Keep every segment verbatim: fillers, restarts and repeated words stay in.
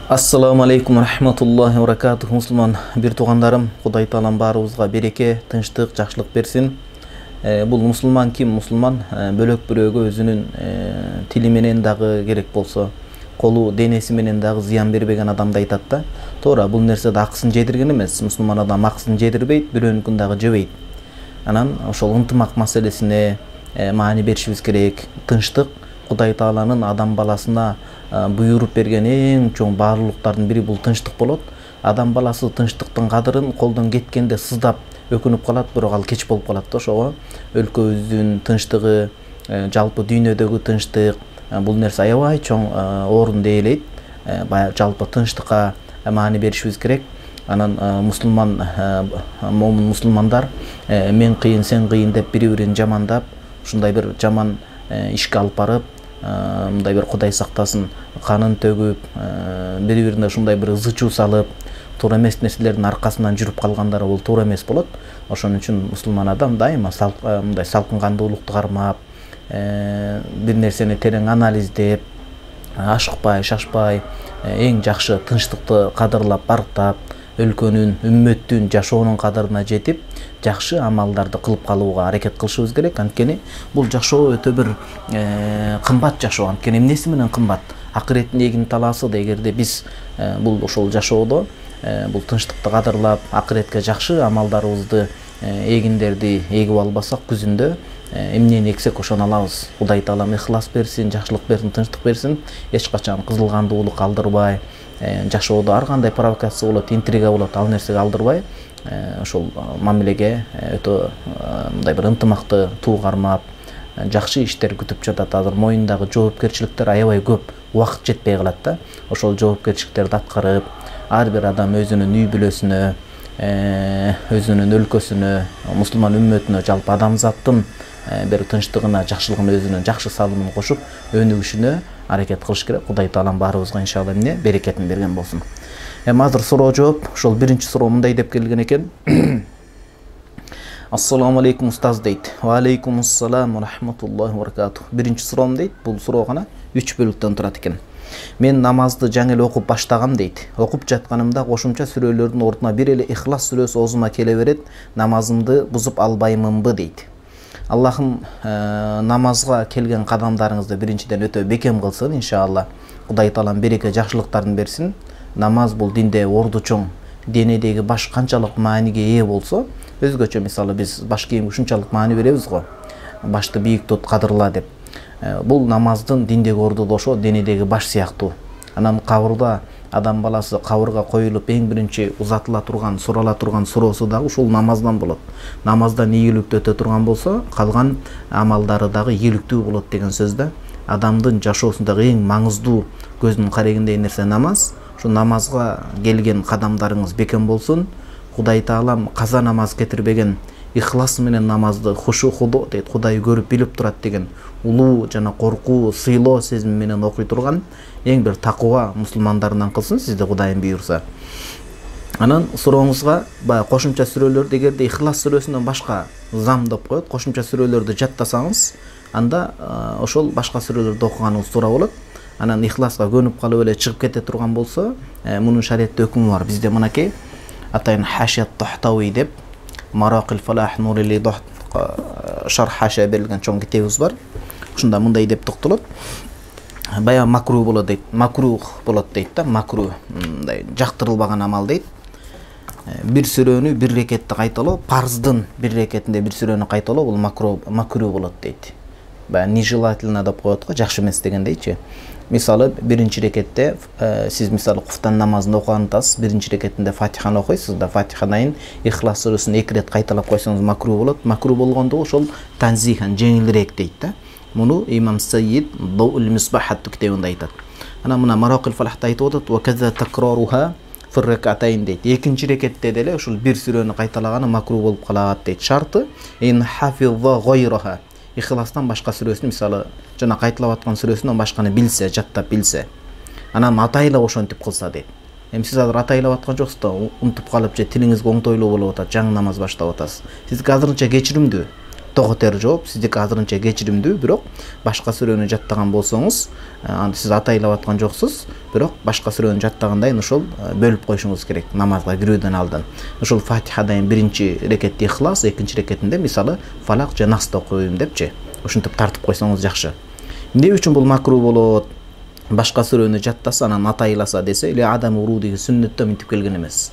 Ассаламу алейкум рахматуллахи ва баракатуху. Мусулман бир туугандарым, Кудай Таалам баарыбызга береке, тынчтык, жакшылык берсин. Бул мусулман ким? Мусулман бөлөк бирөөгө өзүнүн тили менен дагы керек болсо, колу, денеси менен дагы зыян бербеген адамды айтат да. Туура, бул нерсе да акысын жедирген эмес. Мусулман адам акысын жедирбейт, бирөөнүкүн дагы жебейт. Анан ошол ынтымак маселесине маани беришибиз керек. Тынчтык Кудай Тааланын адам баласына буйруп берген эң чоң баалуулуктардын бири бул тынчтык болот. Адам баласы тынчтыктын кадырын колдон кеткенде сыздап өкүнүп калат, бирок ал кеч болуп калат да. Ошого өлкөбүздүн тынчтыгы, жалпы дүйнөдөгү тынчтык, бул нерсе аябай чоң орунду ээлейт. Жалпы тынчтыкка маани беришибиз керек. Анан мусулман момун мусулмандар мен кыйын, сен кыйын деп бири-бирин жамандап, ушундай бир жаман ишке алып барып, мындай бир Кудай сактасын, канын төгүп, бири-бирине ушундай бир зычуу салып, туура эмес нерселердин аркасынан жүрүп калгандары бул туура эмес болот. Ошон үчүн мусулман адам дайыма мындай салкын кандуулукту кармап, бир нерсени терең анализдеп, ашыкпай, шашпай, эң жакшы тынчтыкты кадырлап, барктап, өлкөнүн, үммөттүн жашоонун кадырына жетип, жакшы амалдарды кылып калууга аракет кылышыбыз керек. Анткени бул жашоо өтө бир кымбат жашоо. Анткени эмнеси менен кымбат? Акыреттин эгин талаасы да, эгерде биз бул ошол жашоодо бул тынчтыкты кадырлап, акыретке жакшы амалдарыбызды, эгиндерди эгип албасак, күзүндө эмнени эксек ошону алабыз. Кудай Таалам ыхлас берсин, жакшылык берсин, тынчтык берсин. Эч качан кызылгандуулук алдырбай, жашоодо ар кандай провокация болот, интрига болот, ал нерсеге алдырбай, ошол мамилеге өтө мындай бир ынтымакты туу кармап, жакшы иштер күтүп жатат. Азыр моюндагы жоопкерчиликтер аябай көп, убакыт жетпей калат да. Ошол жоопкерчиликтерди аткарып, ар бир адам өзүнүн үй бүлөсүнө, өзүнүн өлкөсүнө, мусулман үммөтүнө, жалпы адамзаттын бир тынчтыгына, жакшылыгына өзүнүн жакшы салымын кошуп, өнүгүшүнө аракет кылыш керек. Кудай Таалам баарыбызга иншалла эмне берекетин берген болсун. Эми азыр суроо жооп. Ошол биринчи суроо мындай деп келген экен. Ассаламу алейкум устаз дейт. Ва алейкум ассалам ва рахматуллахи ва баракатух. Биринчи суроом дейт. Бул суроо гана үч бөлүктөн турат экен. Мен намазды жаңы эле окуп баштагам дейт. Окуп жатканымда кошумча сүрөлөрдүн ордуна бир эле Ихлас сүрөсү оозума келе берет. Намазымды бузуп албаймынбы дейт. Аллахым намазга келген кадамдарыңызды биринчиден өтө бекем кылсын иншалла. Кудай Таалам береке, жакшылыктарын берсин. Намаз бул динде орду чоң. Денедеги баш канчалык мааниге ээ болсо, өзгөчө мисалы биз баш кийимге ушунчалык маани беребиз го. Башты бийик тут, кадырла деп. Бул намаздын диндеги орду да ошо денедеги баш сыяктуу. Анан кабырда адам баласы кабырга коюлуп эң биринчи узатыла турган, сурала турган суроосу дагы ушул намаздан болот. Намаздан ийгиликтүү өтө турган болсо, калган амалдары дагы ийгиликтүү болот деген сөз да. Адамдын жашоосундагы эң маңыздуу, көздүн карегиндей нерсе намаз. Шу намазга келген кадамдарыңыз бекем болсун. Кудай Таалам каза намаз кетирбеген, ихлас менен намазды хушу худо дейт, Кудай көрүп билип турат деген улуу жана коркуу, сыйлоо сезими менен окуй турган эң бир такыба мусулмандарынан кылсын сизди Кудайым буйрса. Анан сурооңузга баягы кошумча сүрөлөрдү, эгерде Ихлас сүрөсүнөн башка зам деп коет, кошумча сүрөлөрдү жаттасаңыз, анда ошол башка сүрөлөрдү окуганыңыз туура болот. Анан Ихласка көнүп калып эле чыгып кете турган болсо, мунун шариятта өкүмү бар. Бизде мынакей атайын Хашият Тахтауи деп Маракил Фалах Нурили Дохт шарх хашия берилген чоң китебибиз бар. Ушунда мындай деп токтолот. Бая макру болот дейт. Макрух болот дейт да, макру. Мындай жактырылбаган амал дейт. Бир сүрөнү бир рекетте кайталоо, парздын бир рекетинде бир сүрөнү кайталоо бул макру макру болот дейт. Бая нежелательно деп коет го, жакшы эмес дегендейчи. Мисалы биринчи рекетте сиз мисалы куфтан намазында окуган атасыз, биринчи рекетинде Фатиханы окуйсуз да, Фатиханын Ихлас сүрөсүн эки рет кайталап койсоңуз макру болот. Макру болгондо ошол танзихан, жеңилирээк дейт да. Муну имам Сайид Даул Мисбах аттуу китебинде айтат. Анан мына Маракил Фалахта айтып атат: "Ва каза такраруха фи ракатайн" дейт. Экинчи рекетте деле ушул бир сүрөнү кайталаганы макру болуп калат дейт. Шарты ин хафиза гайраха. Ихластан башка сүрөсүн, мисалы жана кайталап аткан сүрөсүнөн башканы билсе, жаттап билсе, анан атайлап ошентип кылса дейт. Эми сиз азыр атайлап аткан жоксуз да, унутуп калып же тилиңизге оңтойлуу болуп атат, жаңы намаз баштап атасыз. Сизге азырынча кечиримдүү. тоготер жооп, сиздики азырынча кечиримдүү, бирок башка сүрөнү жаттаган болсоңуз, аны сиз атайлап аткан жоксуз, бирок башка сүрөнү жаттагандайын ошол бөлүп коюшуңуз керек намазга кирүүдөн алдын. Ошол Фатихадан биринчи рекетте Ихлас, экинчи рекетинде мисалы Фалак же Насты окуйм депчи. Ошентип тартып койсоңуз жакшы. Эмне үчүн бул макруh болот? Башка сүрөнү жаттаса, анан атайласа десе, эле адам урудиги сүннөттө мынтип келген эмес.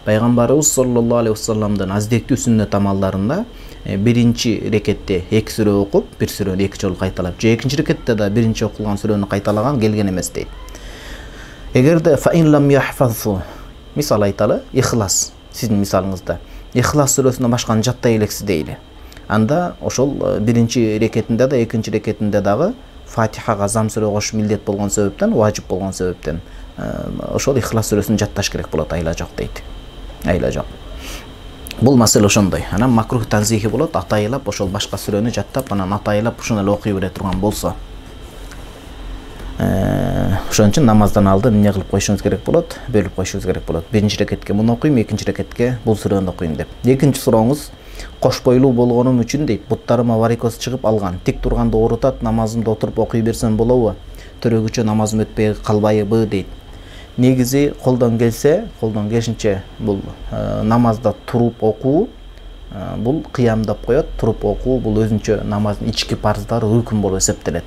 Пайгамбарыбыз саллаллаху алейхи вассаламдын аздектүү сүннөт амалдарында биринчи рекетте эки сүрө окуп, бир сүрөнү эки жолу кайталап, же экинчи рекетте да биринчи окулган сүрөнү кайталаган келген эмес дейт. Эгерде fa in lam yahfazhu, мисал айталы, Ихлас, сиздин мисалыңызда Ихлас сүрөсүнөн башканы жаттай элексиз дейли. Анда ошол биринчи рекетинде да, экинчи рекетинде дагы Фатихага зам сүрө окуш милдет болгон себептен, важип болгон себептен ошол Ихлас сүрөсүн жатташ керек болот, айла жок дейт. Айла жок. Бул маселе ошондой. Анан макруh танзихи болот, атайлап ошол башка сүрөнү жаттап, анан атайлап ушуну эле окуй бере турган болсо. Ошон үчүн намаздан алдын эмне кылып коюшуңуз керек болот? Бөлүп коюшуңуз керек болот. Биринчи рекетке муну окуйм, экинчи рекетке бул сүрөнү окуйм деп. Экинчи сурооңуз кош бойлуу болгонум үчүн дейт, буттарыма варикоз чыгып алган. Тик турганда оорутат, намазымды отуруп окуй берсем болобу? Төрөгүчө намазым өтпөй калбайбы дейт. Негизи колдон келсе, колдон келишинче бул намазда туруп окуу, бул кыям деп коет, туруп окуу бул өзүнчө намаздын ички парздары рукун болуп эсептелет.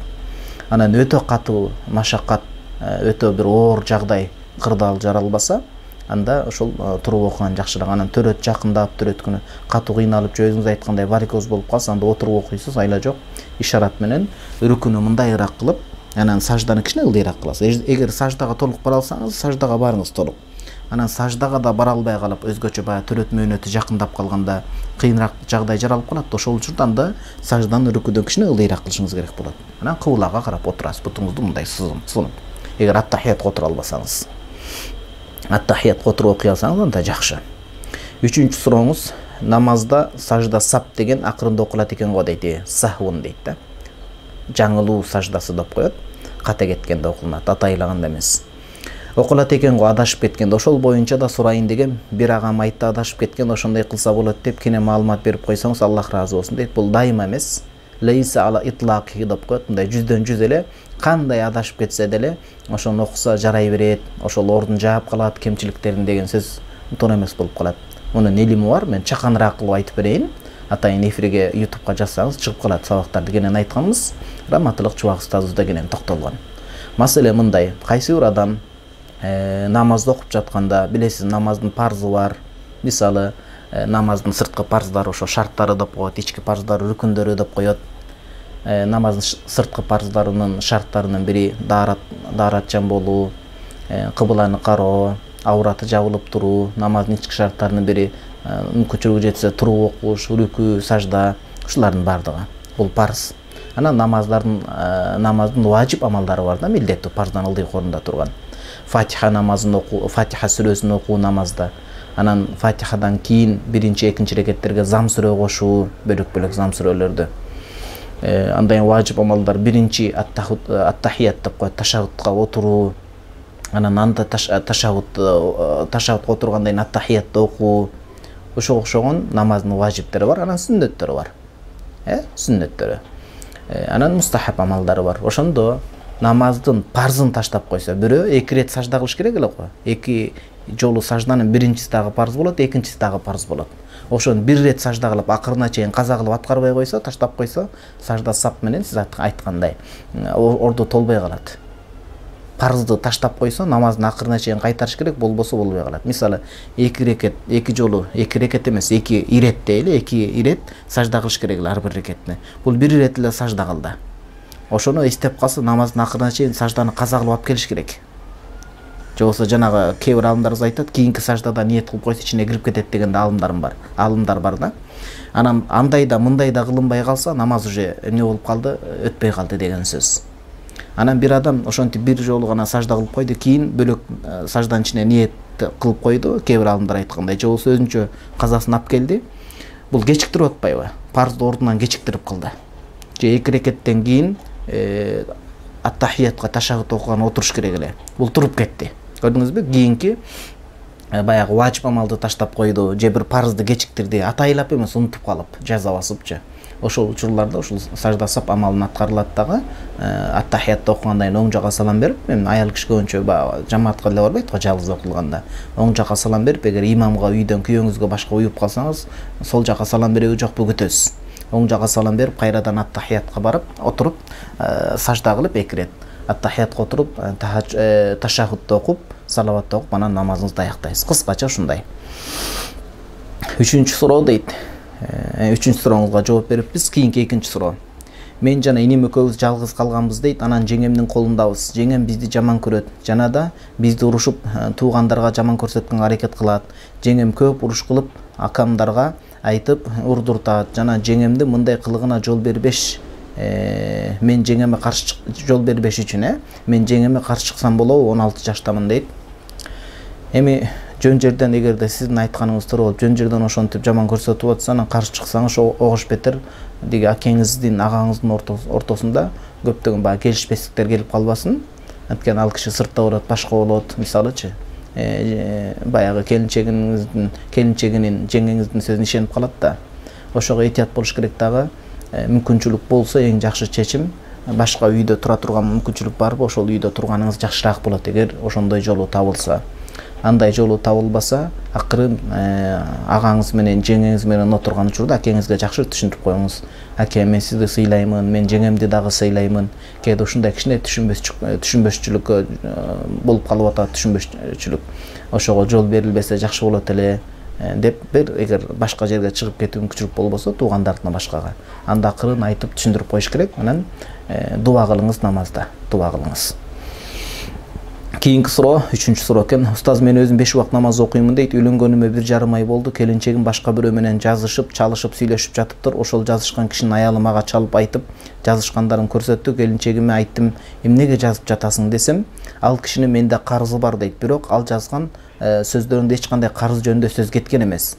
Анан өтө катуу машаккат, өтө бир оор жагдай кырдаал жаралбаса, анда ошол туруп окуган жакшыраак. Анан төрөт жакындап төрөткүнү катуу кыйналып же өзүңүз айткандай варикоз болуп калса, анда отуруп окуйсуз, айла жок. Ишарат менен рукуну мындайыраак кылып, анан сажданы кичине ылдыйраак кыласыз. Эгер саждага толук бара алсаңыз, саждага барыңыз толук. Анан саждага да бара албай калып, өзгөчө баягы төрөт мөөнөтү жакындап калганда кыйыныраак жагдай жаралып калат. Ошол учурда анда сажданы рукудан кичине ылдыйраак кылышыңыз керек болот. Анан кыблага карап отурасыз, бутуңузду мындай сунуп. Эгер ат-тахиятка отура албасаңыз. Ат-тахиятка отуруп окуй алсаңыз анда жакшы. Үчүнчү сурооңуз, намазда сажда сап деген акырында окулат экен го дейт. Сахвун дейт да. Жаңылуу саждасы деп коет. Ката кеткенде окулат, атайлаганда эмес. Окулат экен го адашып кеткенде, ошол боюнча да сурайын деген бир агам айтты, адашып кеткен, ошондой кылса болот деп кене маалымат берип койсоңуз, Аллах ыраазы болсун дейт. Бул дайыма эмес. Лейса ала итлаки деп коет. Мындай жүздөн жүз эле кандай адашып кетсе деле, ошону окуса жарай берет, ошол ордун жаап калат, кемчиликтерин деген сөз туура эмес болуп калат. Мунун илими бар, мен чаканыраак кылып айтып берейин. Атайын эфирге ютубка жазсаңыз чыгып калат, сабактарды кенен айтканбыз. Раматылык Чубак устазыбызда кенен токтолгон. Маселе мындай, кайсы бир адам намазды окуп жатканда, билесиз, намаздын парзы бар. Мисалы, намаздын сырткы парздары, ошо шарттары деп коет, ички парздары, рүкүндөрү деп коет. Намаздын сырткы парздарынын шарттарынын бири даарат, дааратчан болуу, кыбланы кароо, аураты жабылып туруу, намаздын ички шарттарынын бири мүмкүнчүлүгү жетсе туруп окуш, рүкү, сажда, ушулардын бардыгы. Бул парз. Анан намаздардын намаздын важип амалдары бар да, милдеттүү парздан ылдый орунда турган. Фатиха намазын окуу, Фатиха сүрөсүн окуу намазда. Анан Фатихадан кийин биринчи, экинчи рекеттерге зам сүрө кошуу, бөлөк-бөлөк зам сүрөлөрдү. Андай важип амалдар биринчи ат-тахият деп коет, ташагутка отуруу. Анан анда ташагут ташагутка отургандан кийин ат-тахиятты окуу. Ошого окшогон намаздын важиптери бар, анан сүннөттөрү бар. Э, сүннөттөрү. Анан мустахаб амалдары бар. Ошондо намаздын парзын таштап койсо, бирөө эки рет сажда кылыш керек эле го. Эки жолу сажданын биринчиси дагы парз болот, экинчиси дагы парз болот. Ошону бир рет сажда кылып, акырына чейин каза кылып аткарбай койсо, таштап койсо, сажда сап менен сиз айткандай ордо толбой калат. Парзды таштап койсо, намаздын акырына чейин кайтарыш керек, болбосо болбой калат. Мисалы, эки рекет, эки жолу, эки рекет эмес, эки ирет дейли, эки ирет сажда кылыш керек эле ар бир рекетне. Бул бир ирет эле сажда кылды. Ошону эстеп калса, намаздын акырына чейин сажданы каза кылып алып келиш керек. Же болбосо жанагы кээ бир алымдарыбыз айтат, кийинки саждада ниет кылып койсо ичине кирип кетет деген алымдарым бар. Алымдар бар да. Анан андай да, мындай да кылынбай калса, намаз уже эмне болуп калды, өтпөй калды деген сөз. Анан бир адам ошентип бир жолу гана сажда кылып койду, кийин бөлөк сажданын ичине ниет кылып койду, кээ бир алымдар айткандай. Же болбосо өзүнчө казасын алып келди. Бул кечиктирип атпайбы? Парзды ордунан кечиктирип кылды. Же эки рекеттен кийин ат-тахиятка ташагут окуган отуруш керек эле. Бул туруп кетти. Көрдүңүзбү? Кийинки баягы важип амалды таштап койду, же бир парзды кечиктирди, атайлап эмес, унутуп калып, жаза басыпчы. ошол учурларда ушул сажда сап амалын аткарылат дагы. Ат-тахиятты окугандан кийин оң жака салам берип, эми аял киши көбүнчө баягы жамаатка эле барбайт го, жалгыз окулганда. Оң жака салам берип, эгер имамга үйдөн күйөөңүзгө башка уюп калсаңыз, сол жака салам береби жокпу күтөсүз. Оң жака салам берип, кайрадан ат-тахиятка барып, отуруп, сажда кылып эки ирет. Ат-тахиятка отуруп, ташаххудду окуп, салаватты окуп, анан намазыңызды аяктайсыз. Кыскача ушундай. Үчүнчү суроо дейт. Үчүнчү сурооңузга жооп бериппиз. Кийинки экинчи суроо. Мен жана инем экөөбүз жалгыз калганбыз дейт. Анан жеңемдин колундабыз. Жеңем бизди жаман көрөт. Жана да бизди урушуп, туугандарга жаман көрсөткөнгө аракет кылат. Жеңем көп уруш кылып, акамдарга айтып урдуртат. Жана жеңемди мындай кылыгына жол бербеш. Мен жеңеме каршы жол бербеш үчүн, э? Мен жеңеме каршы чыксам болобу? он алты жаштамын дейт. Эми жөн жерден, эгерде сиздин айтканыңыз туура болуп, жөн жерден ошентип жаман көрсөтүп атса, анан каршы чыксаңыз, огош бетер деги акеңиздин, агаңыздын ортосунда көптөгөн баягы келишпестиктер келип калбасын. Анткени ал киши сыртта болот, башка болот, мисалычы. Баягы келинчегиңиздин, келинчегинин, жеңеңиздин сөзүнө ишенип калат да. Ошого этият болуш керек дагы. Мүмкүнчүлүк болсо эң жакшы чечим башка үйдө тура турган мүмкүнчүлүк барбы, ошол үйдө турганыңыз жакшыраак болот, эгер ошондой жолу табылса. Андай жолу табылбаса, акырын агаңыз менен, жеңеңиз менен отурган учурда акеңизге жакшы түшүндүрүп коюңуз. Аке, мен сизди сыйлаймын, мен жеңемди дагы сыйлаймын. Кээде ушундай кичине түшүнбөчүлүк болуп калып атат, түшүнбөчүлүк. Ошого жол берилбесе жакшы болот эле деп бир, эгер башка жерге чыгып кетүү мүмкүнчүлүк болбосо, туугандарына башкага. Анда акырын айтып түшүндүрүп коюш керек. Анан дуа кылыңыз намазда, дуа кылыңыз. Кийинки суроо, үчүнчү суроо экен. Устаз, мен өзүм беш убак намаз окуймун дейт. Үйлөнгөнүмө бир жарым ай болду. Келинчегим башка бирөө менен жазышып, чалышып, сүйлөшүп жатыптыр. Ошол жазышкан кишинин аялы мага чалып айтып, жазышкандарын көрсөттү. Келинчегиме айттым, эмнеге жазып жатасың десем, ал кишинин менде карызы бар дейт. Бирок ал жазган сөздөрүндө эч кандай карыз жөнүндө сөз кеткен эмес.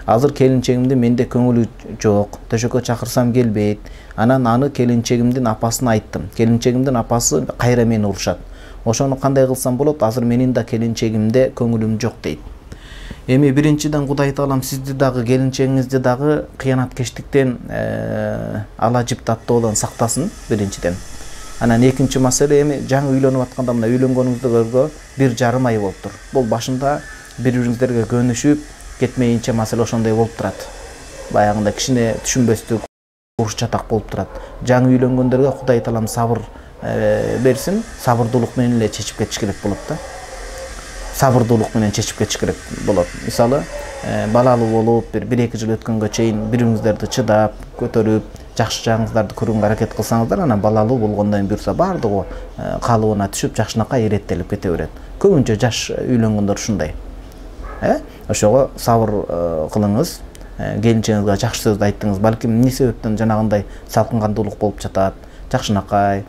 Азыр келинчегимди менде көңүлү жок. Төшөккө чакырсам келбейт. Анан аны келинчегимдин апасына айттым. Келинчегимдин апасы кайра мени урушат. Ошону кандай кылсам болот? Азыр менин да келинчегимде көңүлүм жок дейт. Эми биринчиден Кудай таалам сизди дагы, келинчегиңизди дагы кыянаткештиктен, ала жиптаттоодон сактасын биринчиден. Анан экинчи маселе, эми жаңы үйлөнүп атканда, мына үйлөнгөнүңүздөргө бир жарым ай болуптур. Бул башында бири-бириңиздерге көнүшүп кетмейинче маселе ошондой болуп турат. Баягында кичине түшүнбөстүк, уруш чатак болуп турат. Жаңы үйлөнгөндөргө Кудай таалам сабыр берсин, сабырдуулук менен эле чечип кетиш керек болот да. Сабырдуулук менен чечип кетиш керек болот. Мисалы, балалуу болуп, бир бир эки жыл өткөнгө чейин бириңиздерди чыдап, көтөрүп, жакшы жагыңыздарды көрүүгө аракет кылсаңыздар, анан балалуу болгондон кийин буюрса бардыгы калыбына түшүп, жакшынакай иреттелип кете берет. Көбүнчө жаш үйлөнгөндөр ушундай. Э? Ошого сабыр кылыңыз. Келинчегиңизге жакшы сөздү айттыңыз. Балким эмне себептен жанагындай салкынгандуулук болуп жатат. Жакшынакай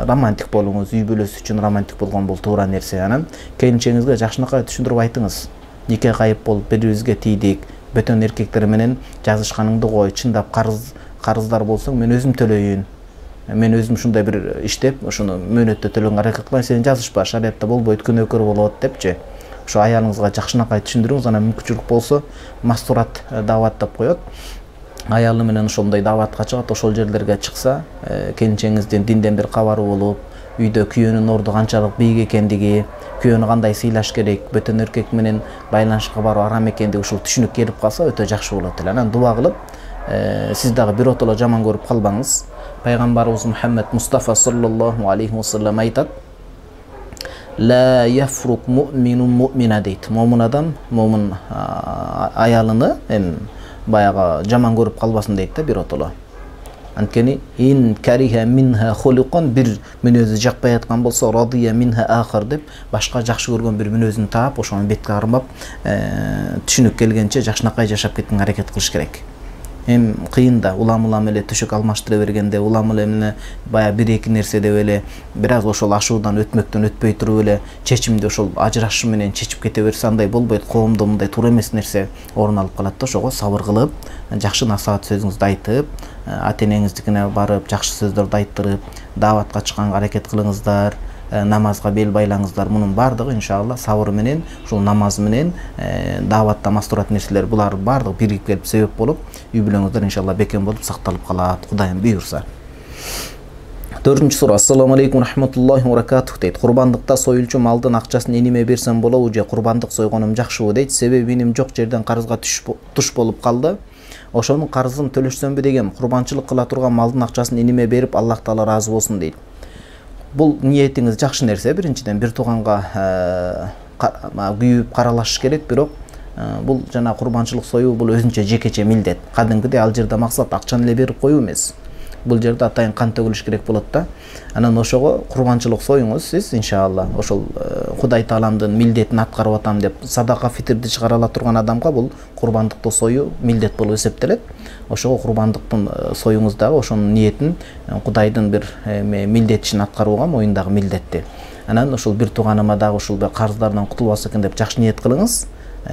романтик болуңуз, үй бүлөсү үчүн романтик болгон бул туура нерсе. Анан келинчегиңизге жакшынакай түшүндүрүп айтыңыз. Нике кайып болуп, бири-бирибизге тийдик. Бөтөн эркектер менен жазышканыңды кой, чындап карыз карыздар болсоң мен өзүм төлөйүн. Мен өзүм ушундай бир иштеп, ошону мөөнөттө төлөнгө аракет кылайын, сен жазышпа, шариатта болбойт, күнөөкөр болот депчи. Ошо аялыңызга жакшынакай түшүндүрүңүз, анан мүмкүнчүлүк болсо мастурат даават деп коет. Аялы менен ошондой дааватка чыгат, ошол жерлерге чыкса, келинчегиңиздин динден бир кабары болуп, үйдө күйөөнүн орду канчалык бийик экендиги, күйөөнү кандай сыйлаш керек, бөтөн эркек менен байланышка баруу арам экендиги ушул түшүнүк келип калса өтө жакшы болот эле. Анан дуа кылып, сиз дагы биротоло жаман көрүп калбаңыз. Пайгамбарыбыз Мухаммед Мустафа саллаллаху алейхи вассалам айтат: «Ла яфрук муъминун муъмина» дейт. Момун адам, момун аялыны эми баягы жаман көрүп калбасын дейт да биротоло. Анткени ин кариха минха хулукан, бир мүнөзү жакпай аткан болсо, радия минха ахар деп башка жакшы көргөн бир мүнөзүн таап, ошону бетке кармап, түшүнүк келгенче жакшынакай жашап кеткенге аракет кылыш керек. Эм кыйын да, улам-улам эле төшөк алмаштыра бергенде, улам эле бая бир-эки нерсе деп эле бир аз ошол ашуудан өтмөктөн өтпөй туруп эле чечимди ошол ажырашуу менен чечип кете берсе, андай болбойт. Коомдо мындай туура эмес нерсе орун алып калат да. Ошого сабыр кылып, жакшы насаат сөзүңүздү айтып, ата-энеңиздикине барып, жакшы сөздөрдү айттырып, дааватка чыкканга аракет кылыңыздар. намазга бел байлаңыздар. Мунун бардыгы иншалла сабыр менен, ушул намаз менен, дааватта мастурат нерселер булар бардыгы биригип келип себеп болуп, үй бүлөңүздөр иншалла бекем болуп сакталып калат. Кудайым буйрса. төртүнчү суроо. Ассаламу алейкум рахматуллахи ва баракатух дейт. Курбандыкта союлчу малдын акчасын эниме берсем болобу же курбандык сойгонум жакшыбы дейт. Себеби менин жок жерден карызга туш болуп калды. Ошонун карызын төлөшсөмбү дегем. Курбанчылык кыла турган малдын акчасын эниме берип, Аллах Таала разы болсун дейт. Бул ниетиңиз жакшы нерсе. Биринчиден бир тууганга күйүп каралашыш керек, бирок бул жана курбанчылык союу бул өзүнчө жекече милдет. Кадимкидей ал жерде максат акчаны эле берип коюу эмес. Бул жерде атайын кан төгүлүш керек болот да. Анан ошого курбанчылык союңуз сиз иншалла. Ошол Кудай Тааламдын милдетин аткарып атам деп садака фитрди чыгара ала турган адамга бул курбандыкты союу милдет болуп эсептелет. Ошого курбандыктын союңуздагы ошонун ниетин Кудайдын бир милдетин аткарууга моюндагы милдетти. Анан ошол бир тууганыма дагы ушул карыздардан кутулбаса экен деп жакшы ниет кылыңыз.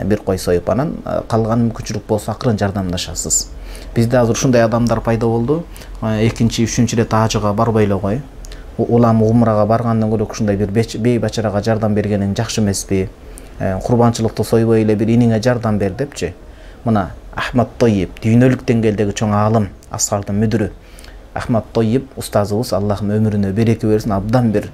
Бир кой союп, анан калган мүмкүнчүлүк болсо акырын жардамдашасыз. Бизде азыр ушундай адамдар пайда болду. Экинчи, үчүнчү рет ажыга барбай эле кой. Улам умрага баргандан көрө ушундай бир бей бачарага жардам бергениң жакшы эмеспи? Курбанчылыкты сойбой эле бир иниңе жардам бер депчи. Мына Ахмад Тойип, дүйнөлүк деңгээлдеги чоң аалым, Асхардын мүдүрү. Ахмад Тойип устазыбыз, Аллахым өмүрүнө береке берсин, абдан бир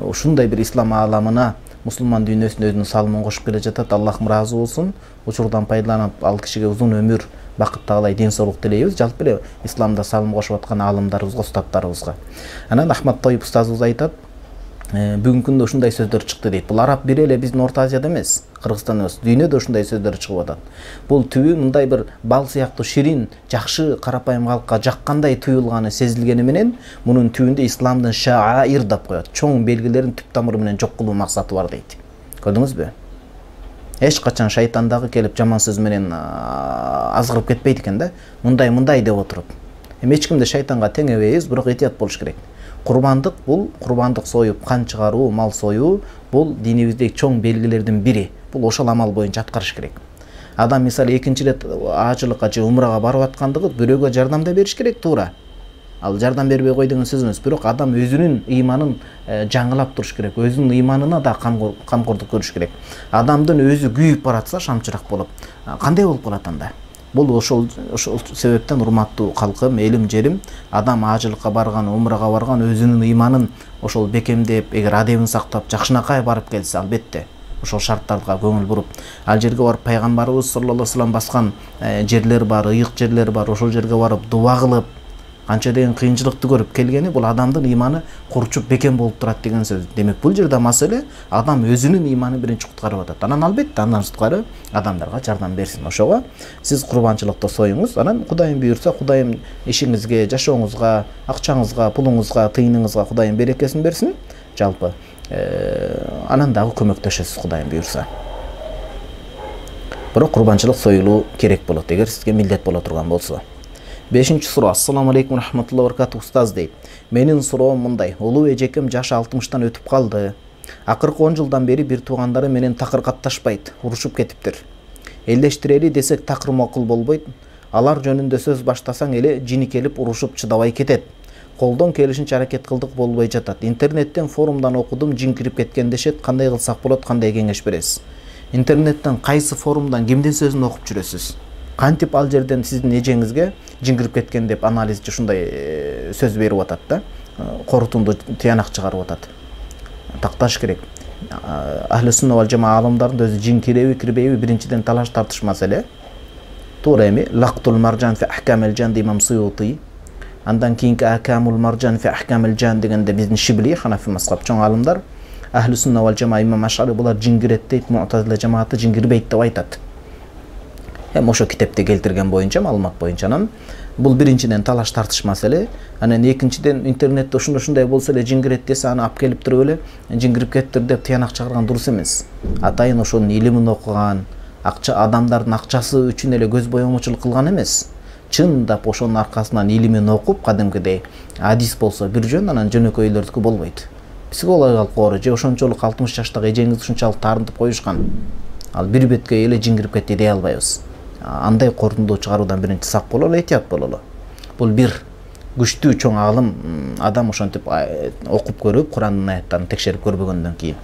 ушундай бир ислам ааламына, мусулман дүйнөсүнө өзүнүн салымын кошуп келе жатат. Аллахым разы болсун. Учурдан пайдаланып ал кишиге узун өмүр, бакыт таалай, ден соолук тилейбиз. Жалпы эле исламда салым кошуп аткан аалымдарыбызга, устаттарыбызга. Анан Ахмад Тойип устазыбыз айтат, бүгүнкү күндө ушундай сөздөр чыкты дейт. Бул араб бири эле биздин Орто Азияда эмес, Кыргызстанда эмес, дүйнөдө ушундай сөздөр чыгып атат. Бул түбү мындай бир бал сыяктуу ширин, жакшы, карапайым калкка жаккандай туюлганы сезилгени менен, мунун түбүндө исламдын шаир деп коет. Чоң белгилерин түп тамыры менен жок кылуу максаты бар дейт. Көрдүңүзбү? Эч качан шайтандагы келип жаман сөз менен азгырып кетпейт экен да. Мындай мындай деп отуруп. Эми эч кимди шайтанга теңебейбиз, бирок этият болуш керек. Курбандык бул, курбандык союп, кан чыгаруу, мал союу бул динибиздеги чоң белгилердин бири. Бул ошол амал боюнча аткарыш керек. Адам мисалы экинчи рет ажылыкка же умрага барып аткандыгы бирөөгө жардам да бериш керек, туура. Ал жардам бербей кой деген сөз эмес, бирок адам өзүнүн ыйманын жаңылап туруш керек, өзүнүн ыйманына да камкордук көрүш керек. Адамдын өзү күйүп баратса шамчырак болуп, кандай болуп калат анда? Бул ошол ошол себептен урматтуу калкым, элим жерим, адам ажылыкка барган, умрага барган өзүнүн ыйманын ошол бекемдеп, эгер адебин сактап, жакшынакай барып келсе, албетте ошол шарттарга көңүл буруп, ал жерге барып пайгамбарыбыз саллаллаху алейхи вассалам баскан жерлер бар, ыйык жерлер бар, ошол жерге барып дуба кылып, канча деген кыйынчылыкты көрүп келгени бул адамдын ыйманы курчуп бекем болуп турат деген сөз. Демек бул жерде маселе адам өзүнүн ыйманын биринчи куткарып атат. Анан албетте андан сырткары адамдарга жардам берсин. Ошого сиз курбанчылыкты союңуз. Анан Кудайым буйрса, Кудайым ишиңизге, жашооңузга, акчаңызга, пулуңузга, тыйыныңызга Кудайым берекесин берсин. Жалпы анан дагы көмөктөшөсүз Кудайым буйрса. Бирок курбанчылык союлуу керек болот эгер сизге милдет боло турган болсо. Бешинчи суроо. Ассаламу алейкум рахматуллахи ва баракатух устаз дейт. Менин суроом мындай. Улуу эжекем жашы алтымыштан өтүп калды. Акыркы он жылдан бери бир туугандары менен такыр катташпайт, урушуп кетиптир. Элдештирели десек такыр макул болбойт. Алар жөнүндө сөз баштасаң эле жини келип урушуп чыдабай кетет. Колдон келишинче аракет кылдык, болбой жатат. Интернеттен, форумдан окудум, жин кирип кеткен дешет. Кандай кылсак болот, кандай кеңеш бересиз? Интернеттен, кайсы форумдан кимдин сөзүн окуп жүрөсүз? Кантип ал жерден сиздин эжеңизге жин кирип кеткен деп анализчи ушундай сөз берип атат да, корутунду тыянак чыгарып атат. Такташ керек. Ахли сунна вал жама аалымдардын өзү жин киреби, кирбейби биринчиден талаш тартыш маселе. Туура эми лактул маржан фи ахкамил жан имам Суюти. Андан кийинки акамул маржан фи ахкамил жан дегенде биздин Шибли, Ханафи мазхаб чоң аалымдар, Ахли сунна вал жама имам Ашари булар жин кирет дейт, Муътазила жамааты жин кирбейт деп айтат. Эми ошо китепте келтирген боюнча, маалымат боюнча, анан бул биринчиден талаш тартыш маселе. Анан экинчиден интернетте ушундай ушундай болсо эле жин кирет десе, аны алып келип туруп эле жин кирип кетиптир деп тыянак чыгарган дурус эмес. Атайын ошонун илимин окуган, акча адамдардын акчасы үчүн эле көз боёмучулук кылган эмес. Чындап ошонун аркасынан илимин окуп, кадимкидей адис болсо бир жөн, анан жөнөкөйлөрдүкү болбойт. Психологиялык оору же ошончолук алтымыш жаштагы эжеңиз ушунчалык таарынтып коюшкан. Ал бир бетке эле жин кирип кетти дей албайбыз. Андай корутунду чыгаруудан биринчи сак бололу, этият бололу. Бул бир. күчтүү чоң алым адам ошентип окуп көрүп Курандын аяттарын текшерип көрбөгөндөн кийин.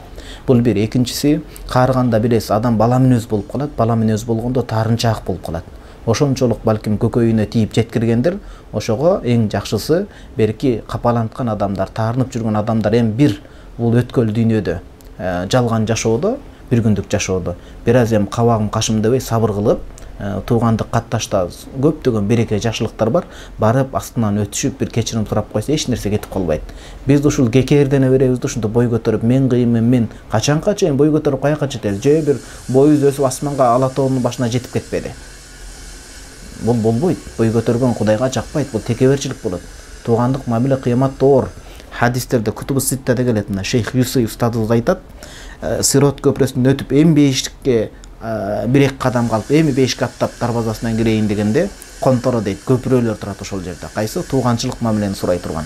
Бул бир. Экинчиси, каарыганда билесиз, адам бала мүнөз болуп калат. Бала мүнөз болгондо таарынчаак болуп калат. Ошончолук балким көкөйүнө тийип жеткиргендир. Ошого эң жакшысы берки капаланткан адамдар, таарынып жүргөн адамдар эми бир бул өткөл дүйнөдө жалган жашоодо, бир күндүк жашоодо бир аз эми кабагым кашым дебей сабыр кылып, туугандык катташта көптөгөн береке жакшылыктар бар. Барып астынан өтүшүп бир кечирим сурап койсо эч нерсе кетип калбайт. Биз ушул кекердене беребиз да ушунда бой көтөрүп мен кыйынмын, мен качанга чейин бой көтөрүп каяка жетебиз? Же бир боюбуз өсүп асманга ала тоонун башына жетип кетпеди. Бул болбойт. Бой көтөргөн Кудайга жакпайт. Бул текеберчилик болот. Туугандык мамиле кыяматта оор. Хадистерде Кутубу Ситтада келет. Мына Шейх Юсуф устазыбыз айтат, Сирот көпүрөсүнөн өтүп эми бешикке бир эки кадам калып, эми бешикке аттап дарбазасынан кирейин дегенде конторо дейт, көпүрөлөр турат ошол жерде. Кайсы тууганчылык мамилени сурай турган.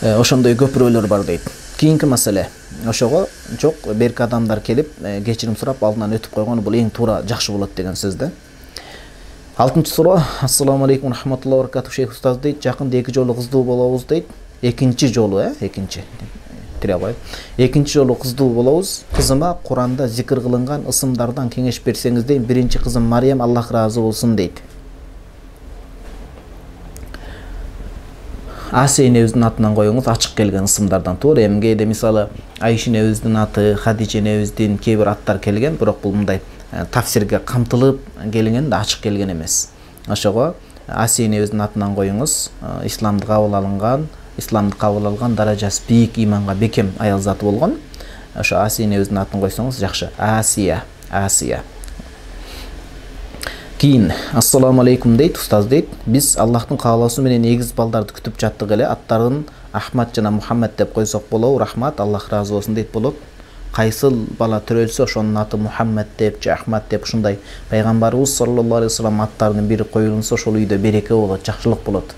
Ошондой көпүрөлөр бар дейт. Кийинки маселе. Ошого жок, берки адамдар келип кечирим сурап алдынан өтүп койгону бул эң туура, жакшы болот деген сөз да. алтынчы суроо. Ассаламу алейкум рахматуллахи ва баракатух. Шейх устаз дейт, жакында эки жолу кыздуу болобуз дейт. Экинчи жолу, э, экинчи. Тирабай. Экинчи жолу кыздуу болобуз. Кызыма Куранда зикир кылынган ысымдардан кеңеш берсеңиз дейм. Биринчи кызым Мариям, Аллах ыраазы болсун дейт. Асия энебиздин атынан коюңуз, ачык келген ысымдардан. Туура, эми кээде мисалы Айша энебиздин аты, Хадижа энебиздин кээ бир аттар келген, бирок бул мындай тафсирге камтылып келген да, ачык келген эмес. Ошого Асия энебиздин атынан коюңуз, исламды кабыл алынган, исламды кабыл алган даражасы бийик, иманга бекем аял заты болгон. Ошо Асия энебиздин атын койсоңуз жакшы. Асия, Асия. Кийин, ассаламу алейкум дейт, устаз дейт. Биз Аллахтын каалоосу менен эгиз балдарды күтүп жаттык эле. Аттарын Ахмад жана Мухаммад деп койсок болобу? Рахмат, Аллах ыраазы болсун дейт болот. Кайсыл бала төрөлсө ошонун аты Мухаммад деп же Ахмад деп ушундай пайгамбарыбыз саллаллаху алейхи вассалам аттарынын бири коюлунса ошол үйдө береке болот, жакшылык болот.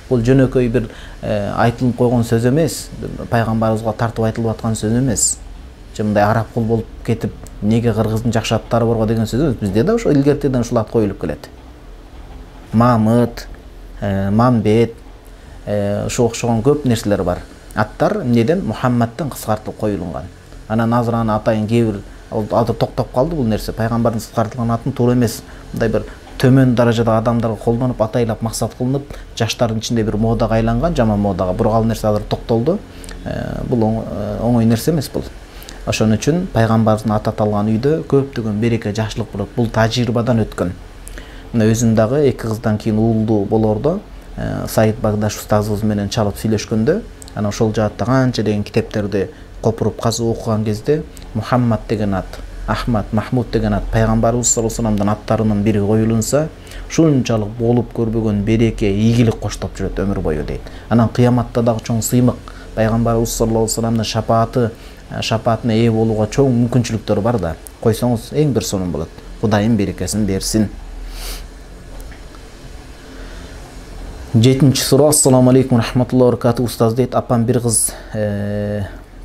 Бул жөнөкөй бир айтылып койгон сөз эмес, пайгамбарыбызга тартып айтылып аткан сөз эмес. Же мындай араб кул болуп кетип, неге кыргыздын жакшы аттары барго деген сөз эмес. Бизде да ошо илгертеден ушул ат коюлуп келет. Мамыт, Мамбет, ошо окшогон көп нерселер бар. Аттар эмнеден? Мухаммадтан кыскартылып коюлган. Анан азыр аны атайын кээ бир азыр токтоп калды бул нерсе. Пайгамбардын кыскартылган атын туура эмес, мындай бир төмөн даражадагы адамдарга колдонуп, атайлап максат кылынып, жаштардын ичинде бир модага айланган, жаман модага. Бирок ал нерсе азыр токтолду. Бул оңой нерсе эмес бул. Ошон үчүн пайгамбардын аты аталган үйдө көптөгөн береке, жакшылык болот. Бул тажрыйбадан өткөн. Мына өзүм дагы эки кыздан кийин уулду болордо Саид Багдаш устазыбыз менен чалып сүйлөшкөндө, анан ошол жаатта канча деген китептерди копуруп казып окуган кезде Мухаммад деген ат, Ахмад, Махмуд деген ат пайгамбарыбыз саллаллаху алейхи вассаламдын аттарынын бири коюлунса, ушунчалык болуп көрбөгөн береке, ийгилик коштоп жүрөт өмүр бою дейт. Анан кыяматта дагы чоң сыймык, пайгамбарыбыз саллаллаху алейхи вассаламдын шапааты, шапаатына ээ болууга чоң мүмкүнчүлүктөр бар да. Койсоңуз эң бир сонун болот. Кудайым берекесин берсин. жетинчи суроо. Ассаламу алейкум рахматуллахи ва баракатух. Устаз дейт, апам бир кыз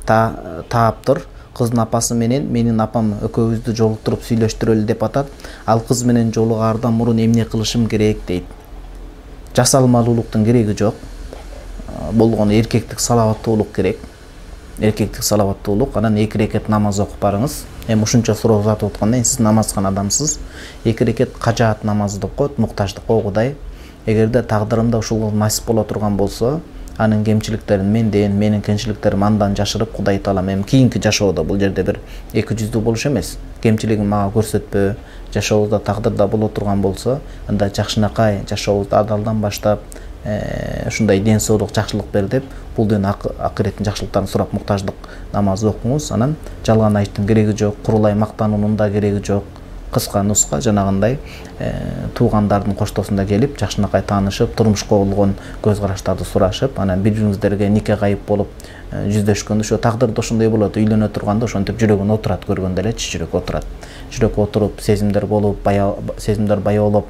тааптыр. Кыздын апасы менен менин апам экөөбүздү жолуктуруп сүйлөштүрөлү деп атат. Ал кыз менен жолугаардан мурун эмне кылышым керек дейт. Жасалмалуулуктун кереги жок. Болгону эркектик салаваттуулук керек. Эркектик салаваттуулук, анан эки рекет намаз окуп барыңыз. Эми ушунча суроо узатып атканда сиз намаз кылган адамсыз. Эки рекет кажаат намазы деп коет, муктаждыкка Кудай. Эгерде тагдырымда ушул насип боло турган болсо, анын кемчиликтерин менден, менин кемчиликтерим андан жашырып Кудай таалам эми кийинки жашоодо, бул жерде бир эки жүздүү болуш эмес. Кемчилигин мага көрсөтпө, жашообузда тагдырда боло турган болсо, анда жакшынакай жашообузду адалдан баштап, ушундай ден соолук, жакшылык бер деп, бул ден акыреттин жакшылыктарын сурап муктаждык намазы окуңуз. Анан жалган айттын кереги жок, курулай мактануунун да кереги жок. Кыска нуска жанагындай туугандардын коштоосунда келип, жакшынакай таанышып, турмушка болгон көз караштарды сурашып, анан бири-бириңиздерге нике кайып болуп жүздөшкөндө ошо тагдырда ошондой болот. Үйлөнө турганда ошентип жүрөгүн отурат, көргөндө элечи жүрөк отурат. Жүрөк отуруп, сезимдер болуп, сезимдер баяолоп,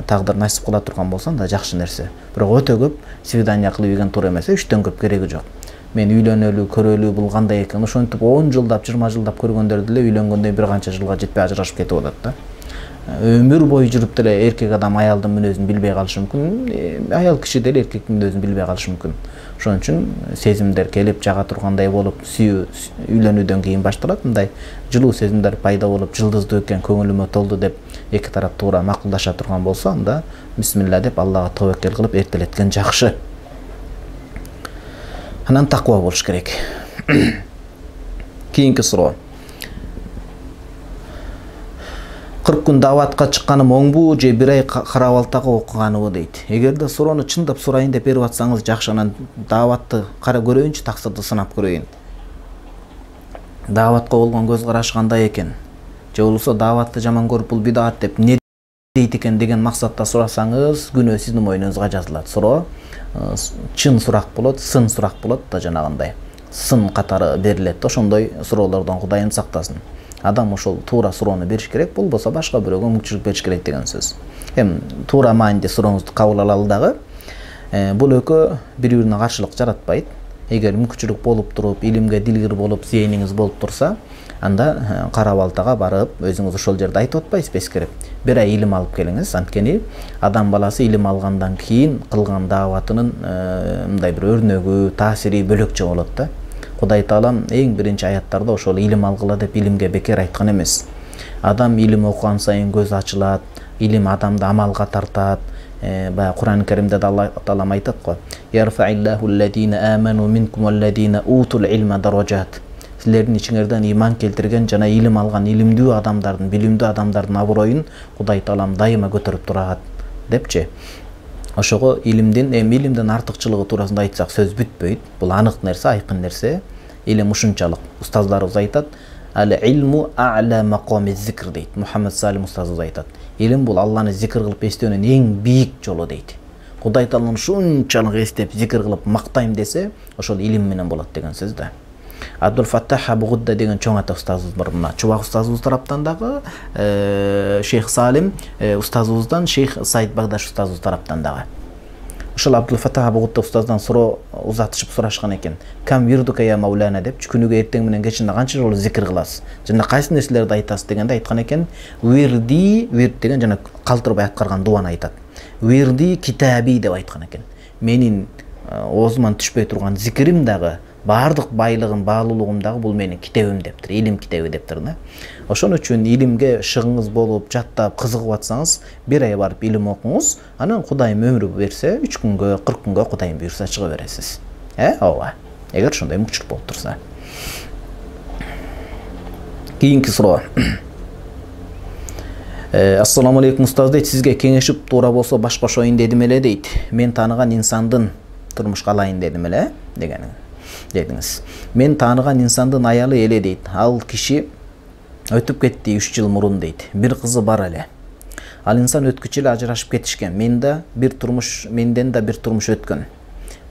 тагдыр насип кыла турган болсо да жакшы нерсе. Бирок өтө көп свидание кылып ийген туура эмес. Үчтөн көп кереги жок. Мен үйлөнөлү, көрөлү, бул кандай экен, ошентип он жылдап, жыйырма жылдап көргөндөрдү эле үйлөнгөндөн бир канча жылга жетпей ажырашып кетип атат да. өмүр бою жүрүп деле эркек адам аялдын мүнөзүн билбей калышы мүмкүн, аял киши деле эркектин мүнөзүн билбей калышы мүмкүн. Ошон үчүн сезимдер келип жага тургандай болуп, сүйүү үйлөнүүдөн кийин башталат. Мындай жылуу сезимдер пайда болуп, жылдыздуу экен, көңүлүмө толду деп эки тарап туура макулдаша турган болсо, анда бисмилла деп Аллага тобокел кылып эртелеткен жакшы. Анан таква болуш керек. Кийинки суроо. кырк күн дааватка чыкканым оңбу же бир ай карабалтага окуганыбы дейт. Эгерде суроону чындап сурайын деп берип атсаңыз жакшы, анан дааватты кара көрөйүнчү, таксырды сынап көрөйүн. Дааватка болгон көз карашы кандай экен? Же болбосо дааватты жаман көрүп бул бидаат деп не дейт экен деген максатта сурасаңыз, күнөө сиздин мойнуңузга жазылат. Суроо чын сурак болот, сын сурак болот да, жанагындай. Сын катары берилет. Ошондой суроолордон Кудайым сактасын. Адам ошол туура суроону бериш керек, болбосо башка бирөөгө мүмкүнчүлүк бериш керек деген сөз. Эми туура мааниде сурооңузду кабыл алалы дагы. Бул экөө бири-бирине каршылык жаратпайт. Эгер мүмкүнчүлүк болуп туруп, илимге дилгир болуп, зээниңиз болуп турса, анда кара балтага барып, өзүңүз ошол жерде айтып атпайсызбы эскерип, бир ай илим алып келиңиз. Анткени адам баласы илим алгандан кийин кылган дааватынын мындай бир өрнөгү, таасири бөлөкчө болот да. Кудай Таалам эң биринчи аяттарда ошол илим алгыла деп илимге бекер айткан эмес. Адам илим окуган сайын көз ачылат, илим адамды амалга тартат. Бая Кур'ан Каримде Алла Таалам айтат го: "Ярфа'иллаху аллазина аману минкум валлазина утул илма даражат." Силердин ичиңерден иман келтирген жана илим алган илимдүү адамдардын, билимдүү адамдардын аброюн Кудай Таалам дайыма көтөрүп турат депчи. Ошого илимдин, эми илимдин артыкчылыгы туурасында айтсак сөз бүтпөйт. Бул анык нерсе, айкын нерсе. Илим ушунчалык. Устаздарыбыз айтат: "Ал-илму а'ла мaqamiz зикр" дейт. Мухаммад Салим устазыбыз айтат. Илим бул Алланы зикр кылып эстөөнүн эң бийик жолу дейт. Кудай Тааланы ушунчалык эстеп, зикр кылып мактайм десе, ошол илим менен болот деген сөз да. Абдул Фаттах Абу-Гудда деген чоң ата устазыбыз бар. Мына Чубак устазыбыз тараптан дагы, Шейх Салим устазыбыздан, Шейх Саид Багдаш устазыбыз тараптан дагы. Ошол Абдул Фаттах Абу-Гудда устаздан суроо узатышып сурашкан экен. "Кам вирдука я Маулана" деп, күнүгө эртең менен кечинде канча жолу зикр кыласыз? Жана кайсы нерселерди айтасыз дегенде айткан экен: "Вирди", вирд деген жана калтырбай аткарган дуаны айтат. "Вирди китаби" деп айткан экен. Менин оозуман түшпөй турган зикирим дагы, баардык байлыгым, баалуулугум дагы бул менин китебим дептир, илим китеби дептир да. Ошон үчүн илимге шыгыңыз болуп, жаттап, кызыгып атсаңыз, бир ай барып илим окуңуз, анан Кудайым өмүр берсе, үч күнгө, кырк күнгө Кудайым буйрса чыга бересиз. Э, ооба. Эгер ошондой мүмкүнчүлүк болуп турса. Кийинки суроо. Ассаламу алейкум устаз дейт, сизге кеңешип туура болсо баш кошоюн дедим эле дейт. Мен тааныган инсандын турмушка алайын дедим эле деген дедиңиз. Мен тааныган инсандын аялы эле дейт. Ал киши өтүп кетти үч жыл мурун дейт. Бир кызы бар эле. Ал инсан өткүчү эле ажырашып кетишкен. Мен да бир турмуш, менден да бир турмуш өткөн.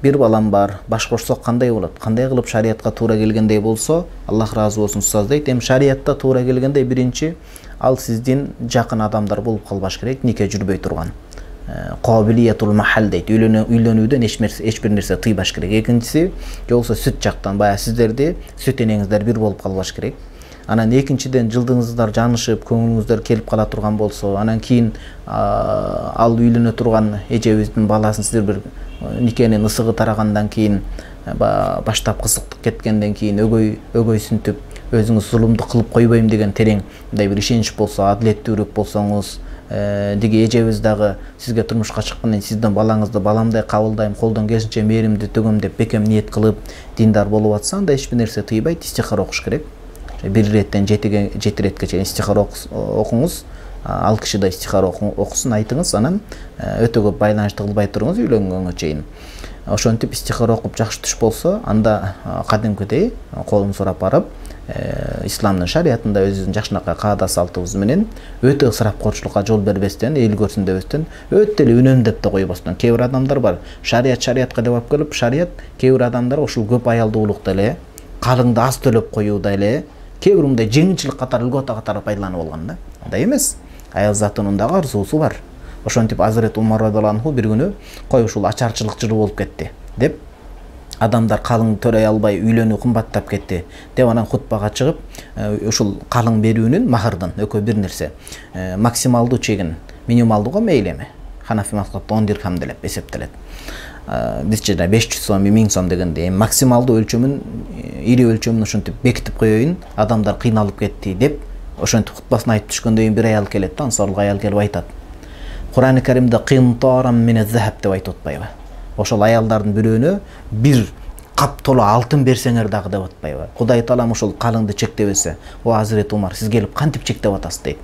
Бир балам бар. Баш кошсок кандай болот? Кандай кылып шариятка туура келгендей болсо, Аллах разы болсун устаз дейт. Эми шариятта туура келгендей биринчи ал сиздин жакын адамдар болуп калбаш керек, нике жүрбөй турган. Кабилиятул махал дейт. Үйлөнүүдөн эч бир нерсе тыйбаш керек. Экинчиси, жолсо сүт жактан бая сиздерди, сүт энеңиздер бир болуп калбаш керек. Анан экинчиден жылдыңыздар жанышып, көңүлүңүздөр келип кала турган болсо, анан кийин ал үйлөнө турган эжебиздин баласын сиздер бир никенин ысыгы тарагандан кийин, баштап кызыктык кеткенден кийин өгөй өгөйсүнтүп, өзүңүз зулумду кылып койбойм деген терең мындай бир ишенич болсо, адилеттүүрөөк болсоңуз, диги эжебиз дагы сизге турмушка чыккандан сиздин балаңызды баламдай кабылдайм, колдон келишинче мээримди төгөм деп бекем ниет кылып диндар болуп атса, анда эч бир нерсе тыйбайт, истихара окуш керек. Бир иреттен жети жети иретке чейин истихара окуңуз, ал киши да истихара окусун, айтыңыз, анан өтө көп байланышты кылбай туруңуз үйлөнгөнгө чейин. Ошентип истихара окуп жакшы түш болсо, анда кадимкидей колун сурап барып, исламдын шариятында өзүбүздүн жакшынакай каада салтыбыз менен өтө ысырапкорчулукка жол бербестен, эл көрсүн дебестен, өтө эле үнөмдөп да койбостон. Кээ бир адамдар бар, шарият шариятка деп алып келип, шарият кээ бир адамдар ушул көп аялдуулукта эле, калыңды аз төлөп коюуда эле, кээ бир мындай жеңилчилик катары, үлгөтө катары пайдаланып алган да. Андай эмес. Аял затынын дагы арзуусу бар. Ошентип Азырет Умар радыйаллаху анху бир күнү кой ушул ачарчылык жылуу болуп кетти деп адамдар калың төрөй албай үйлөнүү кымбаттап кетти деп анан хутбага чыгып, ушул калың берүүнүн махырдын экөө бир нерсе максималдуу чегин, минималдууга мейли эми Ханафи мазхабында он дирхам деп эсептелет. Бизче беш жүз сом, миң сом дегенде максималдуу өлчөмүн, ири өлчөмүн ошентип бекитип коеюн, адамдар кыйналып кетти деп ошентип хутбасын айтып түшкөндөн кийин бир аял келет да, ансарлык аял келип айтат. Кур'ан-ы Каримде кынтарам мин az-захаб деп айтып атпайбы? Ошол аялдардын бирөөнө бир кап толо алтын берсеңер дагы деп атпайбы? Кудай таалам ошол калыңды чектебесе, о Азирет Умар, сиз келип кантип чектеп атасыз дейт.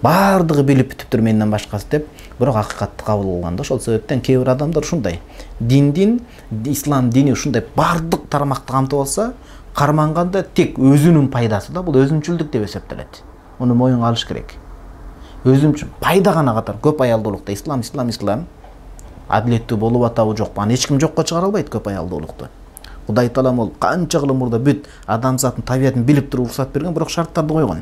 Бардыгы билип бүтүптүр менден башкасы деп, бирок акыйкатты кабыл кылган да. Ошол себептен кээ бир адамдар ушундай. Диндин, ислам дини ушундай бардык тармакты камтып алса, карманганда тек өзүнүн пайдасы да, бул өзүнчүлдүк деп эсептелет. Муну моюнга алыш керек. Өзүмчүн пайда гана катар көп аялдуулукта ислам, ислам, ислам адилеттүү болуп атабы жокпу? Аны эч ким жокко чыгара албайт көп аялдуулукту. Кудай таалам ол канча кылым мурда бүт адамзаттын табиятын билип туруп уруксат берген, бирок шарттарды койгон.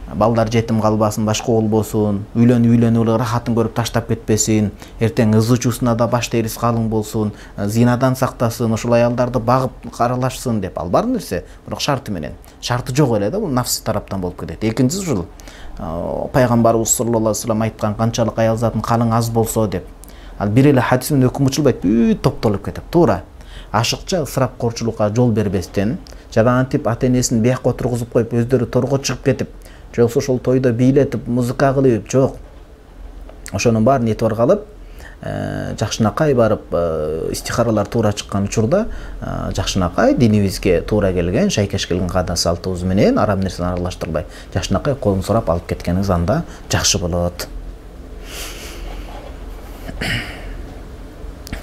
Балдар жетим калбасын, башка болбосун, үйлөнүп үйлөнүп эле рахатын көрүп таштап кетпесин, эртең ыз учусуна да баш терис калың болсун, зинадан сактасын, ошол аялдарды багып каралашсын деп. Ал бар нерсе, бирок шарты менен. Шарты жок эле да, бул нафс тараптан болуп кетет. Экинчиси ушул пайгамбарыбыз саллаллаху алейхи вассалам айткан канчалык аял затын калың аз болсо деп. Ал бир эле хадис менен өкүм учулбайт, бүт топтолуп кетет. Туура. Ашыкча ысырапкорчулукка жол бербестен, жарантип ата-энесин биякка отургузуп коюп, өздөрү торго чыгып кетип, жоксо ошол тойдо бийлетип, музыка кылып, жок. Ошонун баарын этип аргалап, жакшынакай барып истихаралар туура чыккан учурда, жакшынакай динибизге туура келген, шайкеш келген каада салтыбыз менен арам нерсени аралаштырбай, жакшынакай колун сурап алып кеткениңиз анда жакшы болот.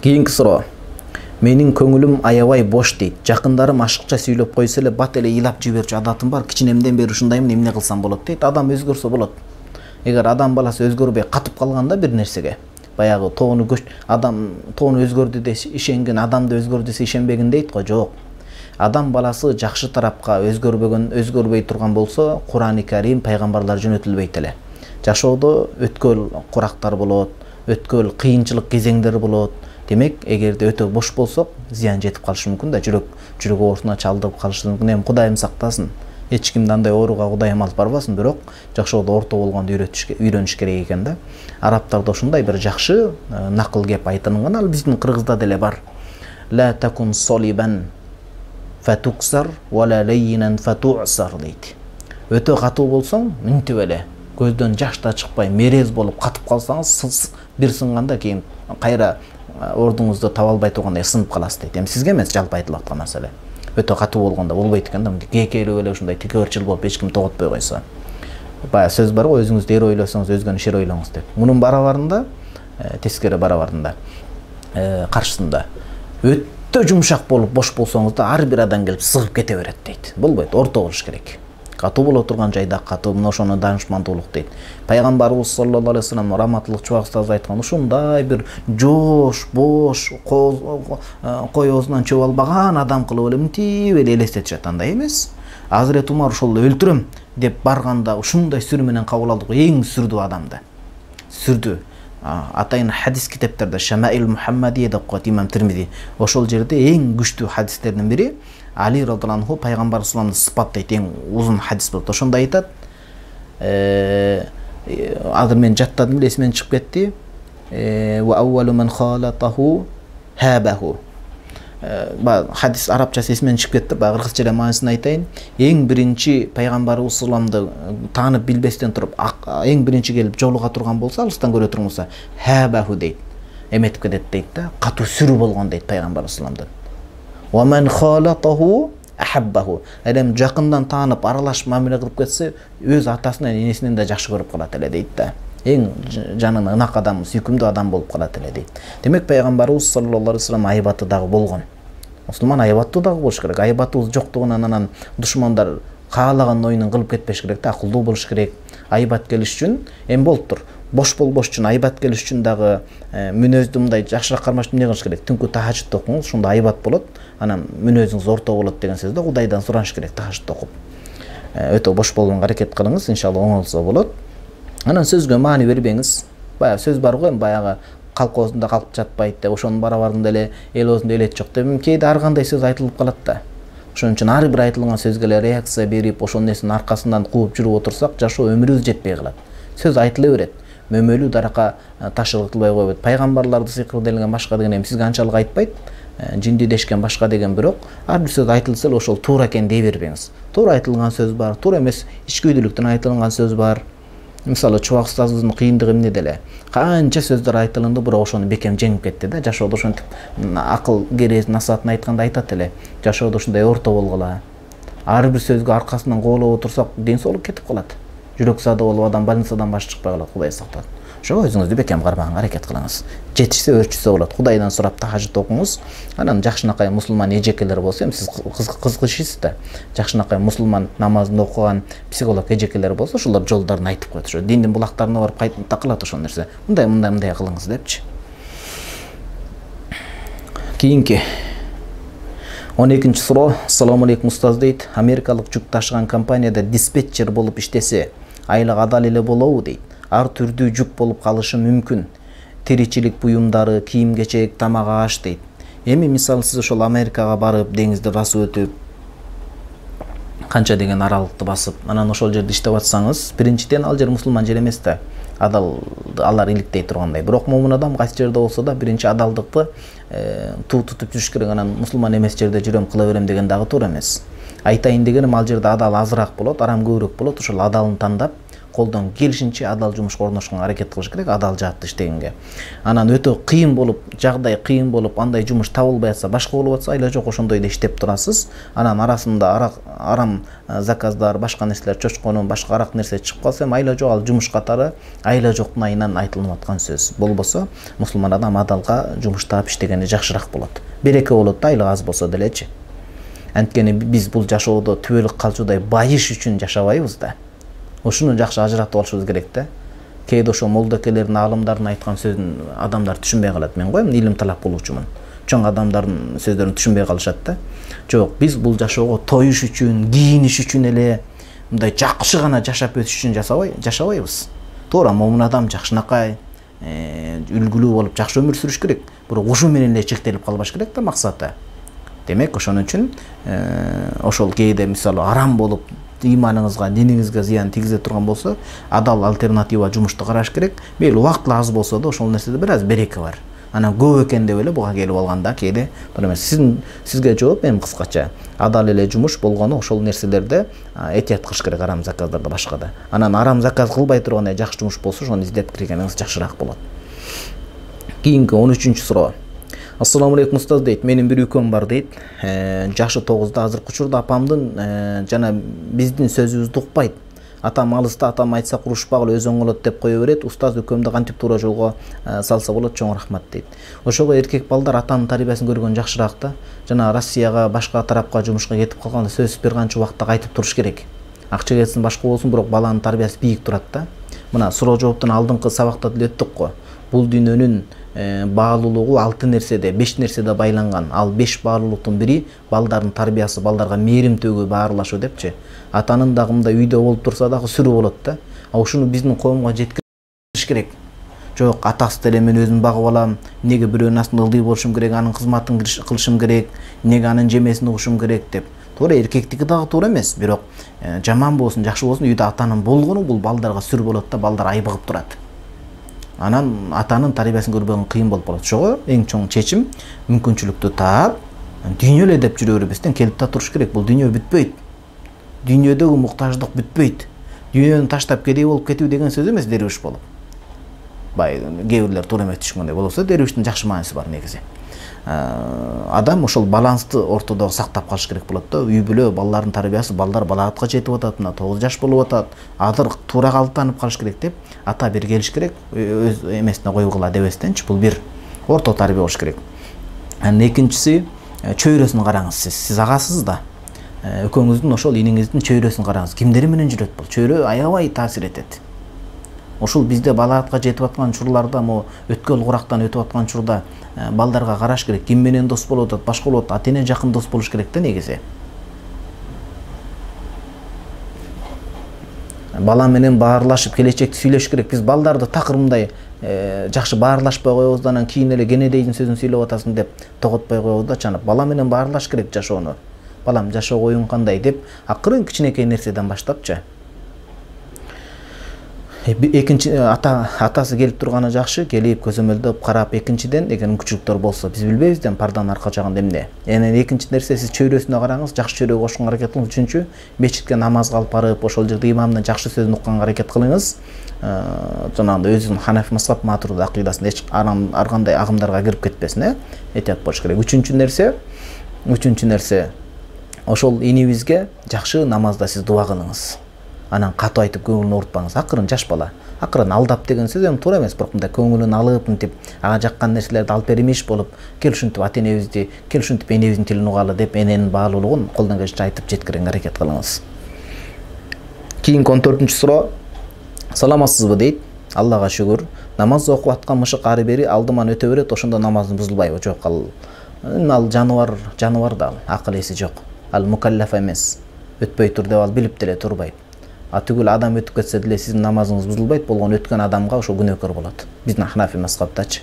Кийинки суроо. Менин көңүлүм аябай бош дейт. Жакындарым ашыкча сүйлөп койсо эле бат эле ыйлап жиберчү адатым бар. Кичинемден бери ушундаймын, эмне кылсам болот дейт. Адам өзгөрсө болот. Эгер адам баласы өзгөрбөй катып калганда бир нерсеге, баягы тоону көч адам тоону өзгөрдү десе ишенген, адамды өзгөрдү десе ишенбегин дейт го, жок. Адам баласы жакшы тарапка өзгөрбөгөн, өзгөрбөй турган болсо, Кур'ан-ы Карим пайгамбарлар жөнөтүлбөйт эле. Жашоодо өткөл курактар болот, өткөл кыйынчылык кезеңдер болот. Демек, эгерде өтө бош болсок, зыян жетип калышы мүмкүн да, жүрөк жүрөк оорусуна чалдырып калышы мүмкүн. Эми Кудайым сактасын. Эч кимди андай ооруга Кудайым алып барбасын, бирок жашоодо орто болгонду үйрөнүш керек экен да. Арабтарда ушундай бир жакшы накыл кеп айтылган, ал биздин кыргызда деле бар. Ла такун солибан фатуксар ва ла лайинан фату'сар дейт. Өтө катуу болсоң, мынтип эле көздөн жаш да чыкпай, мерез болуп катып калсаңыз, бир сынганда кийин кайра ордуңузду таба албай тургандай сынып каласыз дейт. Эми сизге эмес, жалпы айтылып аткан маселе. Өтө катуу болгондо болбойт экен да, кекелеп эле ушундай тикөөрчүл болуп эч ким тоготпой койсо. Бая сөз бар го, өзүңүздү эр ойлосоңуз, өзгөнү шер ойлоңуз деп. Мунун барабарында, тескери барабарында, каршысында өтө жумшак болуп бош болсоңуз да ар бир адам келип сыгып кете берет дейт. Болбойт, орто болуш керек. Катуу боло турган жайда катуу, мына ошону данышмандуулук дейт. Пайгамбарыбыз саллаллаху алейхи вассалам раматылык чубак устаз айткан, ушундай бир жош, бош, кой оозунан чөп албаган адам кылып эле мынтип эле элестетишет, андай эмес. Азирет Умар ошол өлтүрөм деп барганда ушундай сүр менен кабыл алдык, эң сүрдүү адамды. Сүрдүү. Атайын хадис китептерде Шамаил Мухаммадия деп коет имам Тирмизи. Ошол жерде эң күчтүү хадистердин бири Али радhiyallahu anhu пайгамбар саллаллаху алейхи вассаламды сыпаттайт, эң узун хадис болот. Ошондо айтат, азыр мен жаттадым, эсимден чыгып кетти. Ва аввалу ман халатаху хабаху. Ба хадис арабчасы эсимден чыгып кетти, ба кыргызча эле маанисын айтайын. Эң биринчи пайгамбарыбыз саллаллаху таанып билбестен туруп, эң биринчи келип жолуга турган болсо, алыстан көрө турган болсо, хабаху дейт. Эметип кетет дейт да, катуу сүрү болгон дейт пайгамбарыбыз саллаллаху Ва ман халатаху ахаббаху. Элем жакындан таанып, аралашып мамиле кылып кетсе, өз атасынан, энесинен да жакшы көрүп калат эле дейт да. Эң жанына ынак адам, сүйкүмдүү адам болуп калат эле дейт. Демек пайгамбарыбыз саллаллаху алейхи вассалам айбаты дагы болгон. Мусулман айбаттуу дагы болуш керек. Айбатыбыз жоктугунан анан душмандар каалаган оюнун кылып кетпеш керек да, акылдуу болуш керек. Айбат келиш үчүн эми болуптур. Бош болбош үчүн, айбат келиш үчүн дагы мүнөздү мындай жакшыраак кармаш эмне кылыш керек? Түнкү тахажжуд окуңуз, ошондо айбат болот. Анан мүнөзүңүз орто болот деген сөздө Кудайдан сураныш керек тахажжуд окуп. Өтө бош болгонго аракет кылыңыз, иншалла оңолсо болот. Анан сөзгө маани бербеңиз. Баягы сөз бар го, баягы колхозунда калып жатпайт деп, ошонун барабарында эле эл оозунда элет жок деп, кээде ар кандай сөз айтылып калат да. Ошон үчүн ар бир айтылган сөзгө эле реакция берип, ошол нерсенин аркасынан кууп жүрүп отурсак, жашоо өмүрүбүз жетпей калат. Сөз айтыла берет. Мөмөлүү даракка ташылгытылбай койбойт. Пайгамбарларды сыйкыр делген башка деген эми сизге анчалык айтпайт. Жинди дешкен башка деген, бирок ар бир сөз айтылса эле ошол туура экен дей бербеңиз. Туура айтылган сөз бар, туура эмес ичкүйдүүлүктөн айтылган сөз бар. Мисалы Чубак устазыбыздын кыйындыгы эмнеде эле? Канча сөздөр айтылынды, бирок ошону бекем жеңип кетти да. Жашоодо ошентип акыл керез насаатын айтканда айтат эле. Жашоодо ушундай орто болгула. Ар бир сөзгө аркасынан коолоп отурсак, ден соолук кетип калат. Жүрөк саада болуп, адам больницадан башы чыкпай калат, Кудай сактасын. Ошо өзүңүздү бекем кармаганга аракет кылыңыз. Жетишсе өрчүсө болот. Кудайдан сурап тахажжуд окуңуз. Анан жакшынакай мусулман эжекелер болсо, эми сиз кызыгышасыз да. Жакшынакай мусулман намазын окуган психолог эжекелер болсо, ошолор жолдорун айтып коет. Ошо диндин булактарына барып кайтып такылат ошол нерсе. Мындай мындай мындай кылыңыз депчи. Кийинки он экинчи суроо. Ассаламу алейкум устаз дейт. Америкалык жүк ташыган компанияда диспетчер болуп иштесе, айлык адал эле болобу дейт. Ар түрдүү жүк болуп калышы мүмкүн. Тиричилик буюмдары, кийим-кечек, тамак-аш дейт. Эми мисалы сиз ошол Америкага барып, деңизди басып өтүп, канча деген аралыкты басып, анан ошол жерде иштеп атсаңыз, биринчиден ал жер мусулман жер эмес да. Адал алар иликтей тургандай. Бирок момун адам кайсы жерде болсо да биринчи адалдыкты туу тутуп жүрүш керек. Анан мусулман эмес жерде жүрөм, кыла берем деген дагы туура эмес. Айтайын дегеним, ал жерде адал азыраак болот, арам көбүрөөк болот. Ошол адалын тандап, колдон келишинче адал жумушка орношконго аракет кылыш керек, адал жаатта иштегенге. Анан өтө кыйын болуп, жагдай кыйын болуп, андай жумуш табылбай атса, башка болуп атса, айла жок ошондой да иштеп турасыз. Анан арасында арам заказдар, башка нерселер, чочконун башка арак нерсе чыгып калса, эми айла жок, ал жумуш катары айла жоктун айынан айтылып аткан сөз. Болбосо, мусулман адам адалга жумуш таап иштегени жакшыраак болот. Береке болот да, айлык аз болсо делечи. Анткени биз бул жашоодо түбөлүк калчудай байыш үчүн жашабайбыз да. Ошону жакшы ажыратып алышыбыз керек да. Кээде ошо молдокелердин, аалымдардын айткан сөзүн адамдар түшүнбөй калат. Мен го эми илим талап кылуучумун. Чоң адамдардын сөздөрүн түшүнбөй калышат да. Жок, биз бул жашоого тоюш үчүн, кийиниш үчүн эле, мындай жакшы гана жашап өтүш үчүн жашабай, жашабайбыз. Туура момун адам жакшынакай, үлгүлүү болуп жакшы өмүр сүрүш керек. Бирок ушу менен эле чектелип калбаш керек да максаты. Демек, ошон үчүн ошол кээде мисалы арам болуп ыйманыңызга, диниңизге зыян тийгизе турган болсо, адал альтернатива жумушту караш керек. Мейли убакыт аз болсо да ошол нерседе бир аз береке бар. Анан көп экен деп эле буга келип алганда кээде туура эмес. Сиздин сизге жооп эми кыскача адал эле жумуш болгону ошол нерселерде этият кылыш керек, арам заказдарда башкада. Анан арам заказ кылбай турган жакшы жумуш болсо, ошону издеп киргениңиз жакшыраак болот. Кийинки он үчүнчү суроо. Ассаламу алейкум устаз дейт. Менин бир үкөм бар дейт. Жашы тогузда, азыркы учурда апамдын жана биздин сөзүбүздү укпайт. Атам алыста, атам айтса курушпагыла өз оңолот деп кое берет. Устаз үкөмдү кантип туура жолго салса болот, чоң рахмат дейт. Ошого эркек балдар атанын тарбиясын көргөн жакшыраак да. Жана Россияга, башка тарапка жумушка кетип калганда сөзсүз бир канча убакта кайтып туруш керек. Акча кетсин, башка болсун, бирок баланын тарбиясы бийик турат да. Мына суроо жооптун алдыңкы сабакта деле өттүк го. Бул дүйнөнүн баалуулугу алты нерседе, беш нерседе байланган. Ал беш баалуулуктун бири балдардын тарбиясы, балдарга мээрим төгүү, баарылашуу депчи. Атанын дагы мындай үйдө болуп турса дагы сүрүү болот да. А ушуну биздин коомго жеткириш керек. Жок, атасы деле мен өзүм багып алам, эмнеге бирөөнүн астында ылдый болушум керек, анын кызматын кылышым керек, эмнеге анын жемесин угушум керек деп. Туура, эркектики дагы туура эмес, бирок жаман болсун, жакшы болсун, үйдө атанын болгону бул балдарга сүр болот да, балдар айбыгып турат. Анан атанын тарбиясын көрбөгөн кыйын болуп калат. Ошого эң чоң чечим мүмкүнчүлүктү таап, дүйнө эле деп жүрө бербестен келип та туруш керек. Бул дүйнө бүтпөйт. Дүйнөдөгү муктаждык бүтпөйт. Дүйнөнү таштап кедей болуп кетүү деген сөз эмес, дервиш болуп. Бай кээ бирлер туура эмес түшүнгөндөй болсо, дервиштин жакшы мааниси бар негизи. Адам ошол балансты ортодо сактап калыш керек болот да. Үй бүлө, балдардын тарбиясы, балдар балаатка жетип атат, мына тогуз жаш болуп атат, азыр туура калыптанып калыш керек деп, ата бир келиш керек, өз эмесине койгула дебестенчи, бул бир орто тарбия болуш керек. Анан экинчиси, чөйрөсүн караңыз сиз. Сиз агасыз да. Өкөңүздүн ошол иниңиздин чөйрөсүн караңыз. Кимдер менен жүрөт бул? Чөйрө аябай таасир этет. Ошол бизде балаатка жетип аткан чурларда, мо өткөл курактан өтүп аткан чурда балдарга караш керек. Ким менен дос болуп атат, башка болуп атат, ата-эне жакын дос болуш керек да негизи. бала менен баарлашып келечекти сүйлөш керек. Биз балдарды такыр мындай жакшы баарлашпай коебуз, анан кийин эле кенедейдин сөзүн сүйлөп атасың деп тоготпой коебуз да, чанып бала менен баарлаш керек жашоону. Балам жашоо оюң кандай деп акырын кичинекей нерседен баштапчы. Экинчи ата атасы келип турганы жакшы, келип көзөмөлдөп карап, экинчиден эгер мүмкүнчүлүктөр болсо биз билбейбиз да парданын арка жагында эмне. Эне экинчи нерсе сиз чөйрөсүнө караңыз, жакшы чөйрөгө кошконго аракет кылыңыз. Үчүнчү, мечитке намазга алып барып, ошол жерде имамдын жакшы сөзүн укканга аракет кылыңыз. Жанагындай өзүнүн Ханафи мазхаб матуруда акыйдасында эч ар кандай агымдарга кирип кетпесин, э? Этият болуш керек. Үчүнчү нерсе, үчүнчү нерсе ошол инибизге жакшы намазда сиз дуа кылыңыз. Анан катуу айтып көңүлүн оорутпаңыз. Акырын жаш бала. Акырын алдап деген сөз эми туура эмес, бирок мындай көңүлүн алып мынтип ага жаккан нерселерди алып бермеш болуп, кел ушинтип ата энебизди, кел ушинтип энебиздин тилин угалы деп эненин баалуулугун колдон келишинче айтып жеткирүүгө аракет кылыңыз. Кийинки он төртүнчү суроо. Саламатсызбы дейт. Аллага шүгүр. Намаз окуп аткан мышык ары бери алдыман өтө берет, ошондо намазың бузулбайбы? Жок, ал ал жаныбар, жаныбар да ал, акыл эси жок. Ал мукаллаф эмес. Өтпөй тур деп ал билип деле турбайт. А түгүл адам өтүп кетсе деле сиздин намазыңыз бузулбайт, болгон өткөн адамга ошо күнөөкөр болот. Биздин Ханафи мазхабтачы.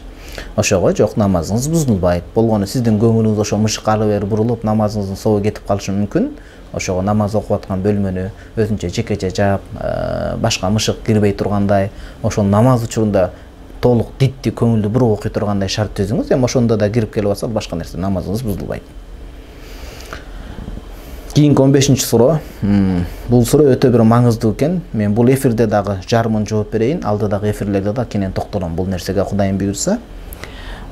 Ошого жок, намазыңыз бузулбайт. Болгону сиздин көңүлүңүз ошо мышык ары бери бурулуп, намазыңыздын собу кетип калышы мүмкүн. Ошого намаз окуп аткан бөлмөнү өзүнчө жекече жаап, башка мышык кирбей тургандай, ошол намаз учурунда толук дитти көңүлдүү буруп окуй тургандай шарт түзүңүз. Эми ошондо да кирип келип атса, башка нерсе намазыңыз бузулбайт. Кийинки он бешинчи суроо. Бул суроо өтө бир маңыздуу экен. Мен бул эфирде дагы жарымын жооп берейин, алдыдагы эфирлерде да кенен токтолом бул нерсеге, Кудайым буйрса.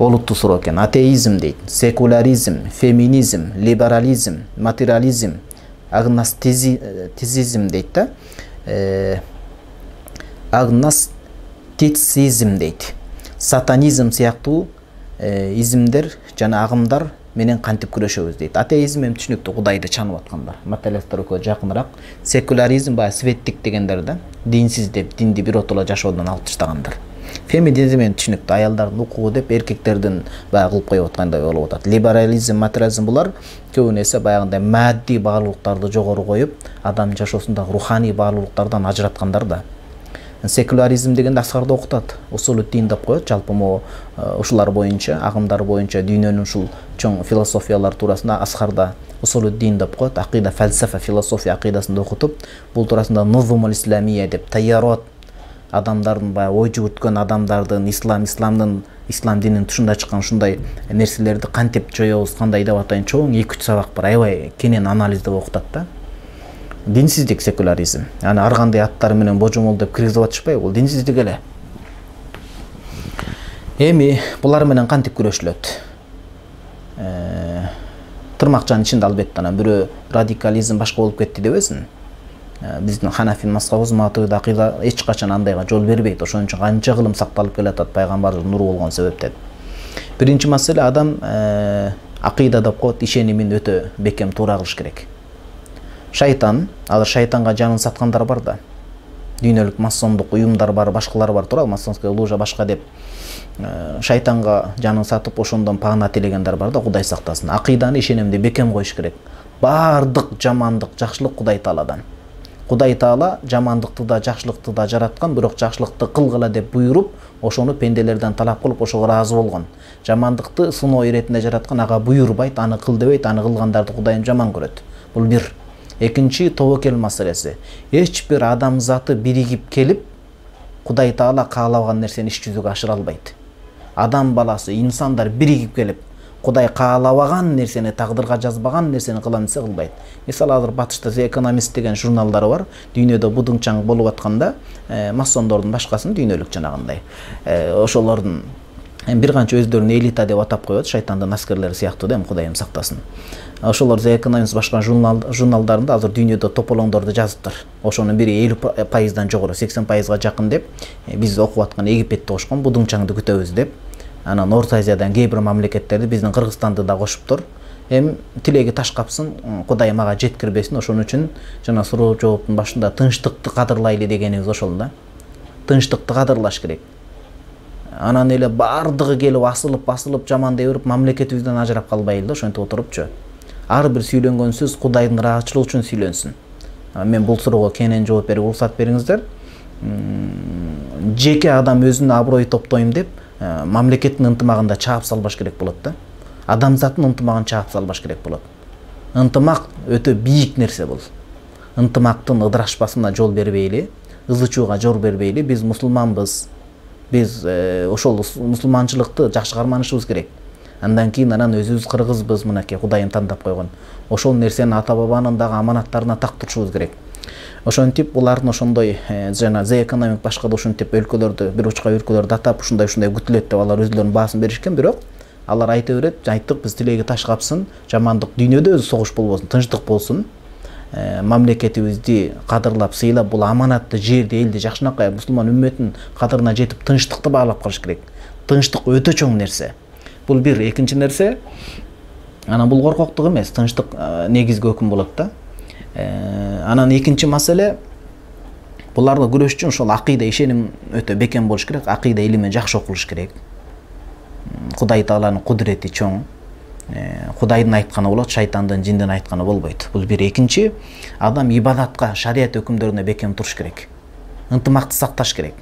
Олуттуу суроо экен. Атеизм дейт, секуляризм, феминизм, либерализм, материализм, агностицизм дейт да. Агностицизм дейт. Сатанизм сыяктуу изимдер жана агымдар менен кантип күрөшөбүз дейт. Атеизм эми түшүнүктүү, Кудайды чанып аткандар. Материалисттер экөө жакыныраак. Секуляризм баягы светтик дегендер да. Динсиз деп, динди биротоло жашоодон алып таштагандар. Феминизм эми түшүнүктүү, аялдардын укугу деп эркектердин баягы кылып коюп аткандай болуп атат. Либерализм, материализм булар көбүнө эсе баягындай мадди баалуулуктарды жогору коюп, адам жашоосундагы руханий баалуулуктардан ажыраткандар да. Секуляризм дегенде аскарда окутат, усулу дин деп коет. Жалпы могу ушулар боюнча, агымдар боюнча дүйнөнүн ушул чоң философиялар туурасында аскарда усулу дин деп коет. Акыйда, фалсафа, философия акыйдасында окутуп, бул туурасында нузумул исламия деп, таярот адамдардын баягы ой жүгүрткөн адамдардын ислам, исламдын, ислам дининин тушунда чыккан ушундай нерселерди кантип жоёбуз, кандай деп атайын, чоң эки үч сабак бар. Аябай кенен анализдеп окутат да. Динсиздик, секуляризм. Аны ар кандай аттар менен божомол деп киргизип атышпайбы? Бул динсиздик эле. Эми булар менен кантип күрөшүлөт? Тырмакчанын ичинде албетте анан бирөө радикализм башка болуп кетти дебесин. Биздин Ханафи мазхабыбыз матурда акыйда эч качан андайга жол бербейт. Ошон үчүн канча кылым сакталып келатат пайгамбардын нуру болгон себептен. Биринчи маселе, адам акыйда деп коет, ишенимин өтө бекем туура кылыш керек. Шайтан, алар шайтанга жанын саткандар бар да. Дүйнөлүк масондук уюмдар бар, башкалар бар, туура, масонская ложа башка деп шайтанга жанын сатып ошондон паана тилегендер бар да, Кудай сактасын. Акыйданы, ишенимди бекем коюш керек. Бардык жамандык, жакшылык Кудай Тааладан. Кудай Таала жамандыкты да, жакшылыкты да жараткан, бирок жакшылыкты кылгыла деп буйруп, ошону пенделерден талап кылып, ошого ыраазы болгон. Жамандыкты сыноо иретинде жараткан, ага буйрубайт, аны кыл дебейт, аны кылгандарды Кудайым жаман көрөт. Бул бир. Экинчи, тобокел маселеси. Эч бир адам заты биригип келип, Кудай Таала каалаган нерсени иш жүзүгө ашыра албайт. Адам баласы, инсандар биригип келип, Кудай каалабаган нерсени, тагдырга жазбаган нерсени кылам десе кылбайт. Мисалы, азыр Батышта The Economist деген журналдары бар. Дүйнөдө будуңчаң болуп атканда, масондордун башкасын дүйнөлүк жанагындай. Ошолордун бир канча өздөрүн элита деп атап коет, шайтандын аскерлери сыяктуу да, Кудайым сактасын. Ошолор The Economist башка журналдарында азыр дүйнөдө тополоңдорду жазыптыр. Ошонун бири элүү пайыздан жогору, сексен пайызга жакын деп, биз окуп аткан Египетти кошкон, будуңчаңды күтөбүз деп. Анан Орто Азиядан кээ бир мамлекеттерди, биздин Кыргызстанды да кошуптур. Эми тилеги таш капсын, Кудай мага жеткирбесин. Ошон үчүн жана суроо жооптун башында тынчтыкты кадырлайлы дегенибиз ошол да. Тынчтыкты кадырлаш керек. Анан эле бардыгы келип асылып, басылып, жамандай берип, мамлекетибизден ажырап калбайлы да, ошентип отурупчу. Ар бир сүйлөнгөн сөз Кудайдын ыраазычылыгы үчүн сүйлөнсүн. Мен бул суроого кенен жооп берип уруксат бериңиздер. Жеке адам өзүнүн аброй топтойм деп мамлекеттин ынтымагында чаап салбаш керек болот да. Адамзаттын ынтымагын чаап салбаш керек болот. Ынтымак өтө бийик нерсе бул. Ынтымактын ыдырашпасына жол бербейли, ызы чууга жол бербейли. Биз мусулманбыз. Биз ошол мусулманчылыкты жакшы карманышыбыз керек. Андан кийин анан өзүбүз кыргызбыз, мынакей Кудайым тандап койгон. Ошол нерсени ата бабанын дагы аманаттарына так турушубуз керек. Ошентип булардын ошондой жана The Economic башка да ошентип өлкөлөрдү, бир учка өлкөлөрдү атап ушундай ушундай күтүлөт деп алар өзүлөрүнүн баасын беришкен, бирок алар айта берет, айттык биз тилеги таш капсын, жамандык дүйнөдө өзү согуш болбосун, тынчтык болсун. Мамлекетибизди кадырлап, сыйлап, бул аманатты жерди, элди жакшынакай мусулман үммөтүнүн кадырына жетип тынчтыкты баалап калыш керек. Тынчтык өтө чоң нерсе. Бул бир, экинчи нерсе, анан бул коркоктук эмес, тынчтык негизги өкүм болот да. Анан экинчи маселе, буларга күрөш үчүн ошол акыйда ишеним өтө бекем болуш керек, акыйда илими жакшы окулуш керек. Кудай Тааланын кудурети чоң. Кудайдын айтканы болот, шайтандын, жиндин айтканы болбойт. Бул бир. Экинчи, адам ибадатка, шарият өкүмдөрүнө бекем туруш керек. Ынтымакты сакташ керек.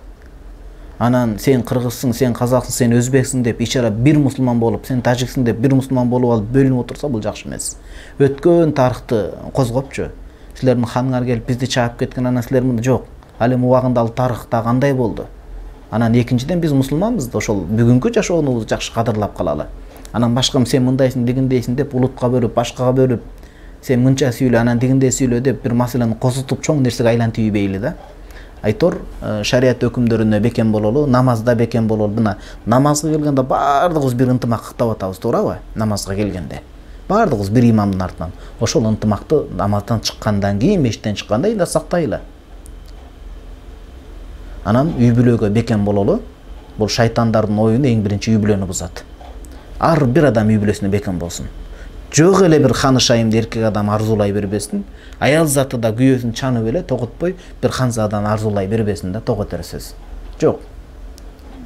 Анан сен кыргызсың, сен казаксың, сен өзбексиң деп ичара бир мусулман болуп, сен тажиксиң деп бир мусулман болуп алып бөлүнүп отурса, бул жакшы эмес. Өткөн тарыхты козгопчу. Силердин ханыңар келип бизди чаап кеткен, анан силер мында жок. Ал эми убагында ал тарыхта кандай болду? Анан экинчиден биз мусулманбыз да, ошол бүгүнкү жашоонубузду жакшы кадырлап калалы. Анан башкам сен мындайсың, дегиндейсиң деп улутка бөлүп, башкага бөлүп, сен мынча сүйлө, анан дегиндей сүйлө деп бир маселени козутуп чоң нерсеге айлантып ийбейли да. Айтор шарият өкүмдөрүнө бекем бололу, намазда бекем бололу. Мына намазга келгенде баардыгыбыз бир ынтымак кыттап атабыз, туурабы? Намазга келгенде баардыгыбыз бир имамдын артынан. Ошол ынтымакты намаздан чыккандан кийин, мештен чыкканда да сактайлы. Анан үй бүлөгө бекем бололу. Бул шайтандардын оюну эң биринчи үй бүлөнү бузат. Ар бир адам үй бүлөсүнө бекем болсун. Жок эле бир ханышайымды эркек адам арзуулай бербесин. Аял заты да күйөөсүн чанып эле тоготпой бир ханзадан арзуулай бербесин да, тоготерсиз. Жок.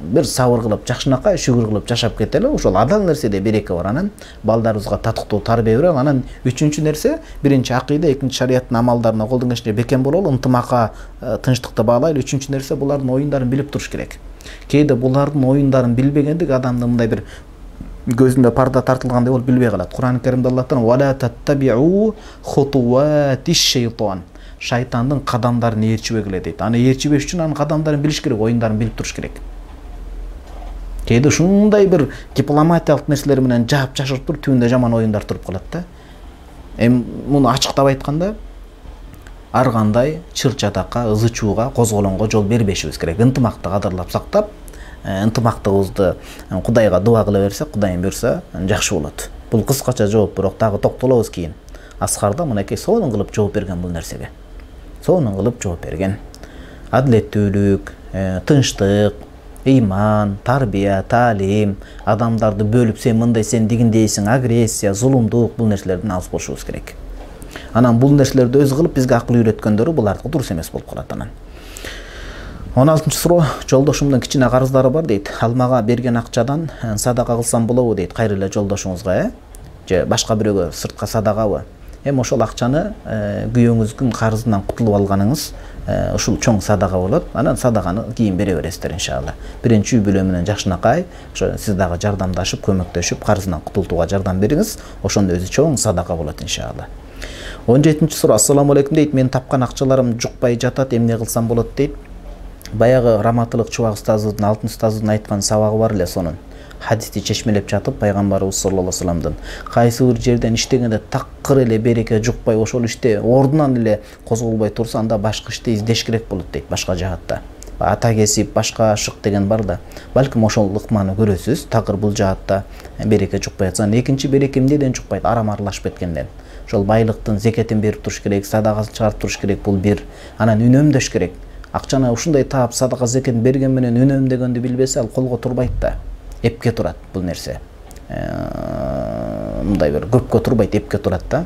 Бир сабыр кылып, жакшынакай шүгүр кылып жашап кетели. Ошол адал нерседе береке бар. Анан балдарыбызга татыктуу тарбия берели. Анан үчүнчү нерсе, биринчи акыйда, экинчи шарияттын амалдарына колдон келишинче бекем бололу, ынтымакка, тынчтыкты баалайлы. Үчүнчү нерсе, булардын оюндарын билип туруш керек. Кээде булардын оюндарын билбегендик адамды мындай бир көзүндө парда тартылгандай болуп билбей калат. Кур'ан-ы Каримде Аллах Таала «Вала таттабиу хутуатиш шейтан». Шайтандын кадамдарын ээрчибегиле дейт. Аны ээрчибеш үчүн анын кадамдарын билиш керек, оюндарын билип туруш керек. Кээде ушундай бир дипломатиялык нерселер менен жаап жашырып туруп, түбүндө жаман оюндар туруп калат да. Эми муну ачыктап айтканда, ар кандай чыр-чатакка, ызы чууга, козголоңго жол бербешибиз керек. Ынтымакты кадырлап сактап, ынтымактыгыбызды Кудайга дуа кыла берсек, Кудайым буйрса жакшы болот. Бул кыскача жооп, бирок дагы токтолобуз кийин. Аскарда мынакей сонун кылып жооп берген бул нерсеге. Сонун кылып жооп берген. Адилеттүүлүк, тынчтык, ыйман, тарбия, таалим, адамдарды бөлүп сен мындай, сен дегиндейсиң, агрессия, зулумдук, бул нерселерден алыс болушубуз керек. Анан бул нерселерди өзү кылып бизге акыл үйрөткөндөрү булардыкы дурус эмес болуп калат анан. он алтынчы суроо, жолдошумдун кичине карыздары бар дейт. Ал мага берген акчадан садака кылсам болобу дейт. Кайры эле жолдошуңузга, э? Же башка бирөөгө сыртка садакабы? Эми ошол акчаны күйөөңүздүн карызынан кутулуп алганыңыз ушул чоң садака болот. Анан садаканы кийин бере бересиздер иншалла. Биринчи үй бүлө менен жакшынакай, ошо сиз дагы жардамдашып, көмөктөшүп, карызынан кутултууга жардам бериңиз. Ошондо өзү чоң садака болот иншалла. он жетинчи суроо. Ассаламу алейкум дейт. Мен тапкан акчаларым жукпай жатат, эмне кылсам болот дейт. Баягы Раматылык Чубак устазыбыздын, алтын устазыбыздын айткан сабагы бар эле, сонун хадисти чечмелеп жатып, пайгамбарыбыз саллаллаху алейхи вассаламдын кайсы бир жерден иштегенде такыр эле береке жукпай, ошол иште ордунан эле козголбой турса, анда башка ишти издеш керек болот дейт, башка жаатта. Ата кесип, башка шык деген бар да. Балким ошол ыкманы көрөсүз, такыр бул жаатта береке жукпай жатса. Экинчи береке эмнеден жукпайт? Арам аралашып кеткенден. Ошол байлыктын зекетин берип туруш керек, садагасын чыгарып туруш керек, бул бир. Анан үнөмдөш керек. Акчаны ушундай таап садака зекетин берген менен үнөмдөгөндү билбесе, ал колго турбайт да. Эпке турат бул нерсе. Мындай бир көпкө турбайт, эпке турат да.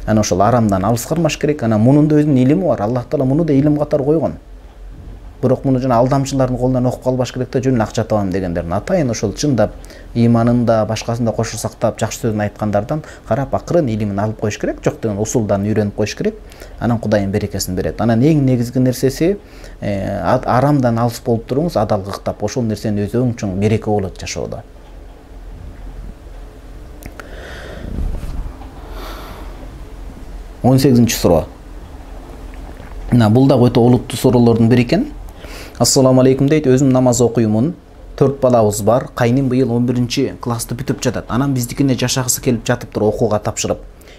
Анан ошол арамдан алыс кармаш керек. Анан мунун да өзүнүн илими бар. Аллах Таала муну да илим катары койгон. Бирок муну жана алдамчылардын колунан окуп калбаш керек да, жөн акча табам дегендердин атайын ошол чындап ыйманында, башкасында кошо сактап жакшы сөзүн айткандардан карап акырын илимин алып коюш керек, жок деген усулдарын үйрөнүп коюш керек. Анан Кудайым берекесин берет. Анан эң негизги нерсеси арамдан алыс болуп туруңуз, адалдыктап, ошол нерсени өзүң үчүн береке болот жашоодо. он сегизинчи суроо. Мына бул да өтө олуттуу суроолордун бири экен. Ассаламу алейкум дейт, өзүм намаз окуймун. төрт балабыз бар. Кайным быйыл он биринчи классты бүтүп жатат. Анан биздикине жашагысы келип жатыптыр окууга тапшырып.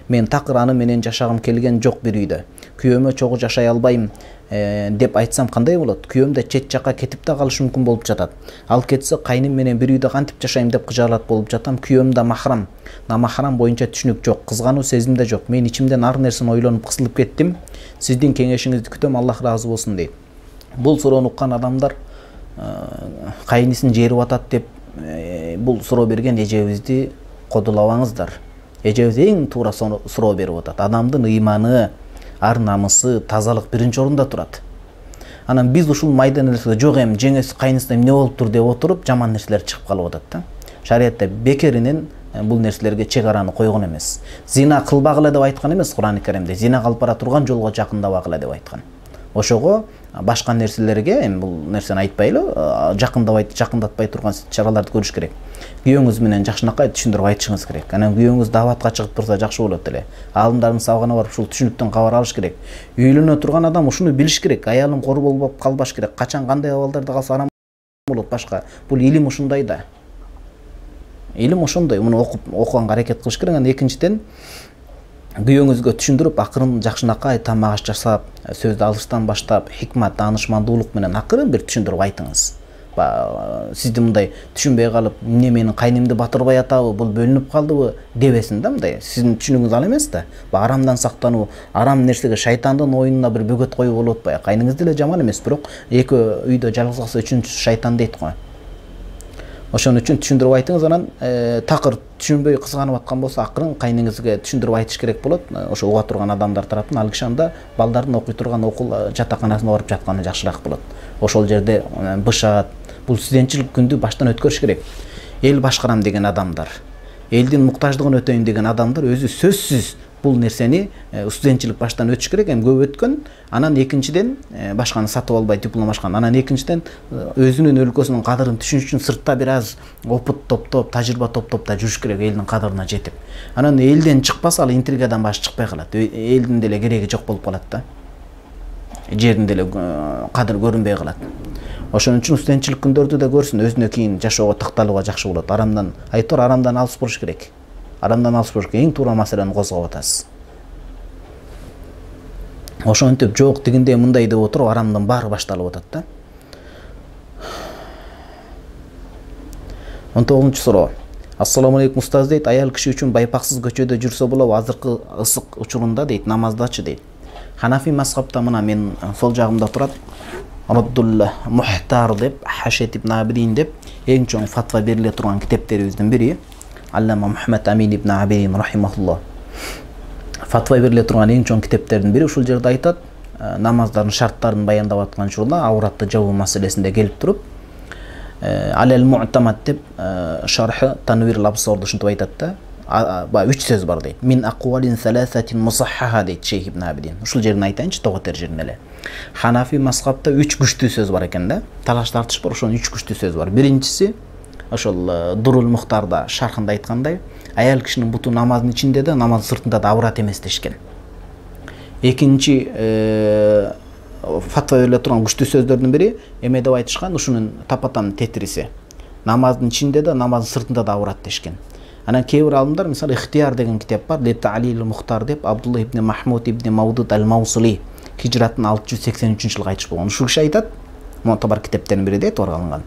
Мен такыр аны менен жашагым келген жок бир үйдө. Күйөөмө чогуу жашай албайм деп айтсам кандай болот? Күйөөм да чет жакка кетип да калышы мүмкүн болуп жатат. Ал кетсе кайным менен бир үйдө кантип жашайм деп кыжаалат болуп жатам. Күйөөм да махрам. Намахрам боюнча түшүнүк жок, кызгануу сезим да жок. Мен ичимден ар нерсени ойлонуп кысылып кеттим. Сиздин кеңешиңизди күтөм, Аллах ыраазы болсун дейт. Бул суроону уккан адамдар кайнисин жерип атат деп бул суроо берген эжебизди кодулабаңыздар. Эжебиз эң туура суроо берип атат. Адамдын ыйманы, ар намысы, тазалык биринчи орунда турат. Анан биз ушул майда нерселер жок эми жеңеси кайнысына эмне болуптур деп отуруп жаман нерселер чыгып калып атат да. Шариатта бекеринен бул нерселерге чек араны койгон эмес. Зина кылбагыла деп айткан эмес Кур'ан-ы Каримде. Зина кылып бара турган жолго жакындабагыла деп айткан. Ошого башка нерселерге эми бул нерсени айтпайлы, жакындабай жакындатпай турган чараларды көрүш керек. Күйөөңүз менен жакшынакай түшүндүрүп айтышыңыз керек. Анан күйөөңүз даватка чыгып турса жакшы болот эле. Алымдардын сабагына барып ушул түшүнүктөн кабар алыш керек. Үйлөнө турган адам ушуну билиш керек. Аялым кор болуп калбаш керек. Качан кандай абалдарда калса арам болот башка. Бул илим ушундай да. Илим ошондой. Муну окуп окуганга аракет кылыш керек. Анан экинчиден күйөөңүзгө түшүндүрүп акырын жакшынакай тамак аш жасап, сөздү алыштан баштап, хикмат, таанышмандуулук менен акырын бир түшүндүрүп айтыңыз. Сизди мындай түшүнбөй калып, эмне менин кайнымды батырбай атабы, бул бөлүнүп калдыбы дебесин да мындай. Сиздин түшүнүгүңүз ал эмес да. Арамдан сактануу, арам нерсеге шайтандын оюнуна бир бөгөт коюп болуп атпайбы? Кайныңыз деле жаман эмес, бирок эки үйдө жалгыз калса үчүнчүсү шайтан дейт го. Ошон үчүн түшүндүрүп айтыңыз. Анан такыр түшүнбөй кызганып аткан болсо акырын кайныңызга түшүндүрүп айтыш керек болот. Ошо уга турган адамдар тараптан ал киши анда балдардын окуй турган окул жатаканасына барып жатканы жакшыраак болот. Ошол жерде бышат. Бул студентчилик күндү баштан өткөрүш керек. Эл башкарам деген адамдар, элдин муктаждыгын өтөйм деген адамдар өзү сөзсүз бул нерсени студентчилик баштан өтүш керек. Эми көп өткөн, анан экинчиден башканы сатып албай диплом ашкан. Анан экинчиден өзүнүн өлкөсүнүн кадырын түшүнүш үчүн сыртта бир аз опыт топтоп, тажрыйба топтоп да жүрүш керек, элдин кадырына жетип. Анан элден чыкпаса, ал интригадан башы чыкпай калат. Элдин деле кереги жок болуп калат да. Жердин деле кадыр көрүнбөй калат. Ошон үчүн студентчилик күндөрдү да көрсүн, өзүнө кийин жашоого такталууга жакшы болот. Арамдан айтор, арамдан алыс болуш керек. Арамдан алыс болуш керек. Эң туура маселени козгоп атасыз. Ошентип жок тигиндей мындай деп отуруп арамдан баары башталып атат да. он тогузунчу суроо. Ассаламу алейкум устаз дейт, аял киши үчүн байпаксыз көчөдө жүрсө болобу азыркы ысык учурунда дейт, намаздачы дейт. Ханафи мазхабта мына мен сол жагымда турат. Раддул Мухтар деп, Хашет ибн Абидин деп эң чоң фатва бериле турган китептерибиздин бири. Аллама Мухаммад Амин ибн Абидин рахимахуллах. Фатва бериле турган эң чоң китептердин бири. Ушул жерде айтат, намаздардын шарттарын баяндап аткан учурда ауратты жабуу маселесинде келип туруп, Алел Му'тамад деп шархы Танвир Лабсорду ушинтип айтат да. Ба үч сөз бар дейт. Мин аквалин саласатин мусаххаха дейт Шейх ибн Абидин. Ушул жерин айтайынчы, тоготер жерин эле. Ханафи мазхабта үч күчтүү сөз бар экен да. Талаш тартыш бар, ошонун үч күчтүү сөз бар. Биринчиси ошол Дурул Мухтарда шархында айткандай, аял кишинин буту намаздын ичинде да, намаздын сыртында да аврат эмес дешкен. Экинчи фатва бериле турган күчтүү сөздөрдүн бири эме деп айтышкан, ушунун тапатам тетириси. Намаздын ичинде да, намаздын сыртында да аврат дешкен. Анан кээ бир алымдар, мисалы Ихтияр деген китеп бар, Лепта Алил Мухтар деп, Абдулла ибн Махмуд ибн Мавдуд ал-Маусули хижраттын алты жүз сексен үчүнчү жылы айтыш болгон. Ушул киши айтат, Муътабар китептердин бири дейт, алынган.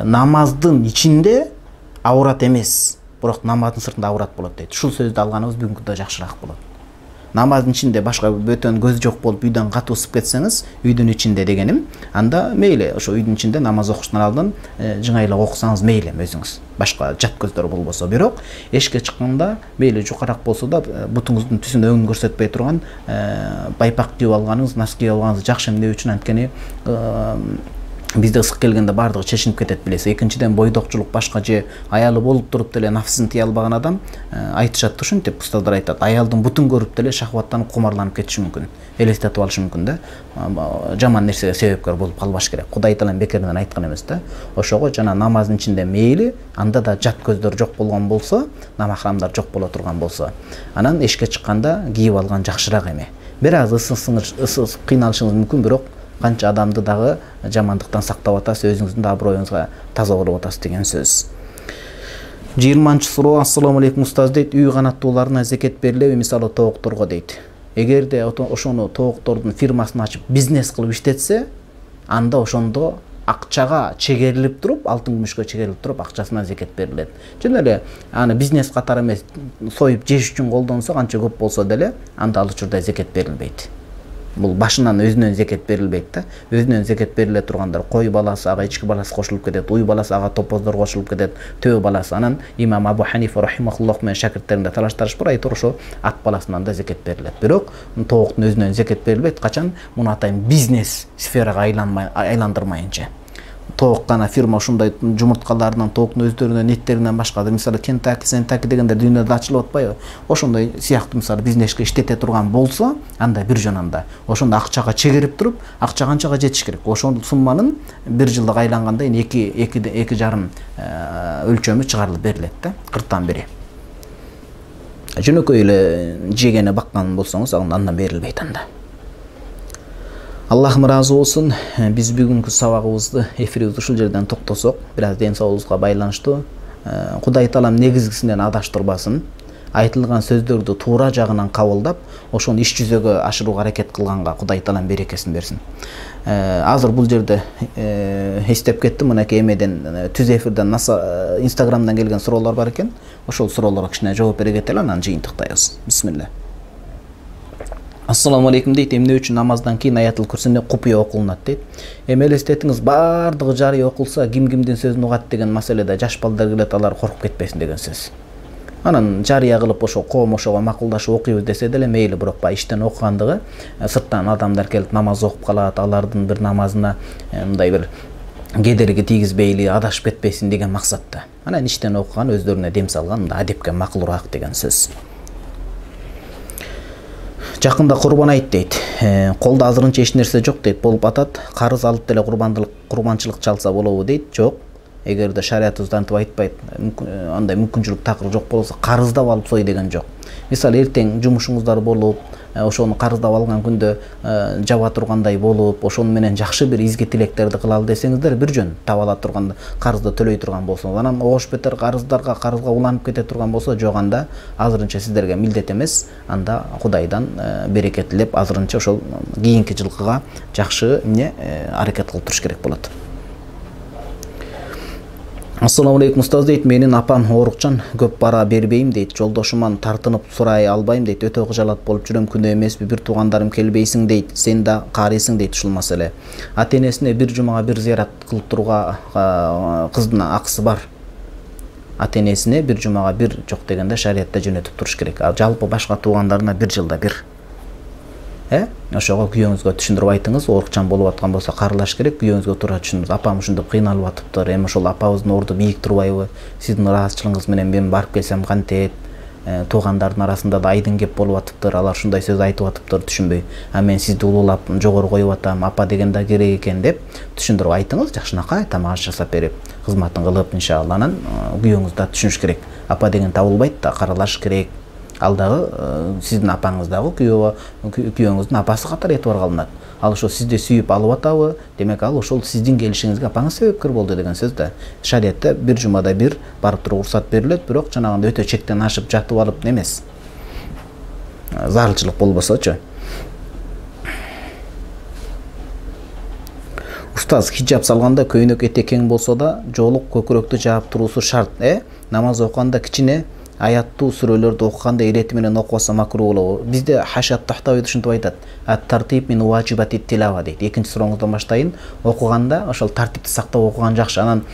Намаздын ичинде аврат эмес, бирок намаздын сыртында аврат болот дейт. Ушул сөздү алганыбыз бүгүнкү күндө жакшыраак болот. намаздын ичинде башка бөтөн көз жок болуп үйдөн катуу ысып кетсеңиз, үйдүн ичинде дегеним, анда мейли ошо үйдүн ичинде намаз окуштан алдын жыңайлап окусаңыз мейли өзүңүз. Башка жат көздөр болбосо, бирок эшикке чыкканда мейли жукараак болсо да бутуңуздун түсүн өңүн көрсөтпөй турган байпак кийип алганыңыз, нос кийип алганыңыз жакшы. Эмне үчүн? Анткени бизде ысык келгенде баардыгы чечинип кетет билесиз. Экинчиден бойдокчулук башка же аялы болуп туруп деле нафсын тыя албаган адам айтышат ушинтип, устаздар айтат, аялдын бутун көрүп деле шахваттанып кумарланып кетиши мүмкүн, элестетип алышы мүмкүн да. Жаман нерсеге себепкер болуп калбаш керек. Кудай таалам бекеринен айткан эмес да. Ошого жана намаздын ичинде мейли анда да жат көздөр жок болгон болсо, намахрамдар жок боло турган болсо, анан эшикке чыкканда кийип алган жакшыраак эме. Бир аз ысып кыйналышыңыз мүмкүн, бирок канча адамды дагы жамандыктан сактап атасыз, өзүңүздүн да аброюңузга таза кылып атасыз деген сөз. жыйырманчы суроо. Ассаламу алейкум устаз дейт. Үй канаттууларына зекет берилеби, мисалы тоокторго дейт. Эгерде ошону тооктордун фирмасын ачып бизнес кылып иштетсе, анда ошондо акчага чегерилип туруп, алтын күмүшкө чегерилип туруп, акчасына зекет берилет. Жөн эле аны бизнес катары эмес, союп жеш үчүн колдонсо, канча көп болсо деле, анда ал учурда зекет берилбейт. Бул башынан өзүнөн зекет берилбейт да. Өзүнөн зекет бериле тургандар кой баласы, ага ички баласы кошулуп кетет, уй баласы, ага топоздор кошулуп кетет, төө баласы. Анан имам Абу Ханифа рахимахуллах менен шакирттеринде талаштарышпыр, айтор ошо ат баласынан да зекет берилет. Бирок тооктун өзүнөн зекет берилбейт, качан муну атайын бизнес сферага айланмай айландырмайынча. Тоок гана фирма ушундай жумурткаларынан, тооктун өздөрүнөн, эттеринен башка, мисалы Кентаки, Сентаки дегендер дүйнөдө ачылып атпайбы? Ошондой сыяктуу мисалы бизнеске иштете турган болсо, анда бир жөн анда ошондо акчага чегерип туруп, акча канчага жетиш керек. Ошол сумманын бир жылдык айланганда эки эки жарым өлчөмү чыгарылып берилет да, кырктан бири. Жөнөкөй эле жегени баккан болсоңуз, андан берилбейт анда. Аллахым разы болсун. Биз бүгүнкү сабагыбызды, эфирибизди ушул жерден токтосок, бир аз ден соолугубузга байланыштуу. Кудай таалам негизгисинен адаштырбасын. Айтылган сөздөрдү туура жагынан кабылдап, ошону иш жүзөгө ашырууга аракет кылганга Кудай таалам берекесин берсин. Азыр бул жерде эстеп кеттим, мынакей эмеден түз эфирден Инстаграмдан келген суроолор бар экен. Ошол суроолорго кичине жооп бере кетели, анан жыйынтыктайбыз. Бисмилла. Ассаламу алейкум дейт. Эмне үчүн намаздан кийин аятыл курсине купуя окулунат дейт. Эми элестетиңиз, баардыгы жарый окулса, ким кимдин сөзүн угат деген маселеде жаш балдар келет, алар коркуп кетпесин деген сөз. Анан жарыя кылып ошо коом ошого макулдашып окуйбуз десе деле мейли, бирок ба иштен окугандыгы сырттан адамдар келип намаз окуп калат, алардын бир намазына мындай бир кедерги тийгизбейли, адашып кетпесин деген максатта. Анан иштен окуган, өздөрүнө дем салган, мындай адепке макулураак деген сөз. Жакында курбан айт дейт. Колдо азырынча эч нерсе жок дейт, болуп атат. Карыз алып деле курбандылык, курбанчылык чалса болобу дейт. Жок. Эгерде шариятыбыз антип айтпайт, андай мүмкүнчүлүк такыр жок болсо, карыздап алып сой деген жок. Мисалы эртең жумушуңуздар болуп, ошону карыздап алган күндө жаба тургандай болуп, ошону менен жакшы бир изги тилектерди кылалы десеңиздер, бир жөн таба ала турганда карызды төлөй турган болсоңуз, анан ош бетер карыздарга, карызга уланып кете турган болсо, жок, анда азырынча сиздерге милдет эмес, анда Кудайдан береке тилеп, азырынча ошол кийинки жылкыга жакшы эмне аракет кылып туруш керек болот. Ассаламу алейкум устаз дейт. Менин апам оорукчан, көп бара бербейм дейт. Жолдошуман тартынып сурай албайм дейт. Өтө кыжалат болуп жүрөм, күнөө эмеспи, бир туугандарым келбейсиң дейт. Сен да карыйсың дейт ушул маселе. Ата-энесине бир жумага бир зыярат кылып турууга кыздын акысы бар. Ата-энесине бир жумага бир жок дегенде шариятта жөнөтүп туруш керек. Ал жалпы башка туугандарына бир жылда бир. Э? Ошого күйөөңүзгө түшүндүрүп айтыңыз, оорукчан болуп аткан болсо карылаш керек, күйөөңүзгө туура түшүндүрүңүз. Апам ушунтип кыйналып атыптыр, эми ошол апабыздын орду бийик турбайбы? Сиздин ыраазычылыгыңыз менен мен барып келсем кантет? Туугандардын арасында да айдын кеп болуп атыптыр, алар ушундай сөз айтып атыптыр, түшүнбөй. А мен сизди улуулап жогору коюп атам, апа деген да керек экен деп түшүндүрүп айтыңыз, жакшынакай тамак аш жасап берип, кызматын кылып, иншалла. Анан күйөөңүз да түшүнүш керек. Апа деген табылбайт да, каралаш керек. Ал дагы сиздин апаңыз дагы күйөөңүздүн апасы катары этибар кылынат. Ал ошо сизди сүйүп алып атабы, демек ал ошол сиздин келишиңизге апаңыз себепкер болду деген сөз да. Шариятта бир жумада бир барып туруп уруксат берилет, бирок жанагындай өтө чектен ашып жатып алып эмес. Зарылчылык болбосочу. Устаз, хиджаб салганда көйнөк этек кең болсо да, жоолук көкүрөктү жаап туруусу шарт, э? Намаз окуганда кичине аяттуу сүрөлөрдү окуганда ирети менен окубаса макруh болобу? Бизде Хашат Тахтави ушинтип айтат. Ат-тартиб мин ваджибати тилава дейт. Экинчи сурооңуздан баштайын. Окуганда ошол тартипти сактап окуган жакшы. Анан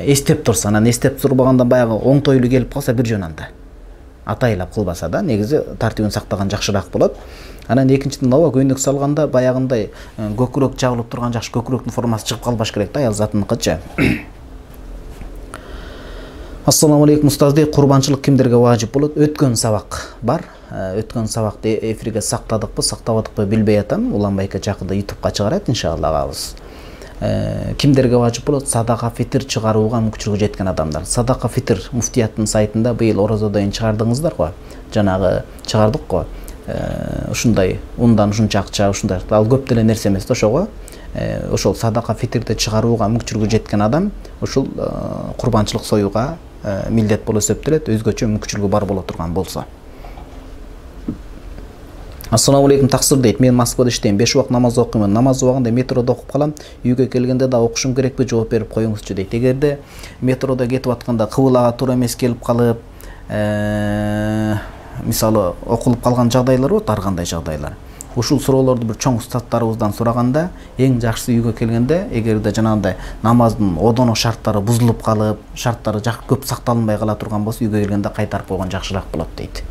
эстеп турса, анан эстеп турбагандан баягы оңтойлуу келип калса бир жөн анда. Атайлап кылбаса да, негизи тартибин сактаган жакшыраак болот. Анан экинчиден ооба көйнөк салганда баягындай көкүрөк жабылып турган жакшы, көкүрөктүн формасы чыгып калбаш керек да, аял затыныкычы. Ассаламу алейкум устаз дей, курбанчылык кимдерге важип болот? Өткөн сабак бар. Өткөн сабакты эфирге сактадыкпы, сактабадыкпы билбей атам. Улан байке жакында ютубка чыгарат иншалла агабыз. Кимдерге важип болот? Садака фитр чыгарууга мүмкүнчүлүгү жеткен адамдар. Садака фитр муфтияттын сайтында быйыл оразодон чыгардыңыздар го. Жанагы чыгардык го. Ушундай ундан ушунча акча, ушундай. Ал көп деле нерсе эмес да ошого. Ошол садака фитрди чыгарууга мүмкүнчүлүгү жеткен адам ушул курбанчылык союуга милдет болуп эсептелет, өзгөчө мүмкүнчүлүгү бар боло турган болсо. Ассаламу алейкум таксир дейт. Мен Москвада иштейм. беш убак намаз окуймун. Намаз убагында метродо окуп калам. Үйгө келгенде да окушум керекпи? Жооп берип коюңузчу дейт. Эгерде метродо кетип атканда кыбылага туура эмес келип калып, мисалы окулуп калган жагдайлар болот, ар кандай жагдайлар. Ушул суроолорду бир чоң устаттарыбыздан сураганда, эң жакшысы үйгө келгенде, эгерде жанагындай намаздын одоно шарттары бузулуп калып, шарттары жак көп сакталынбай кала турган болсо, үйгө келгенде кайтарып койгон жакшыраак болот дейт.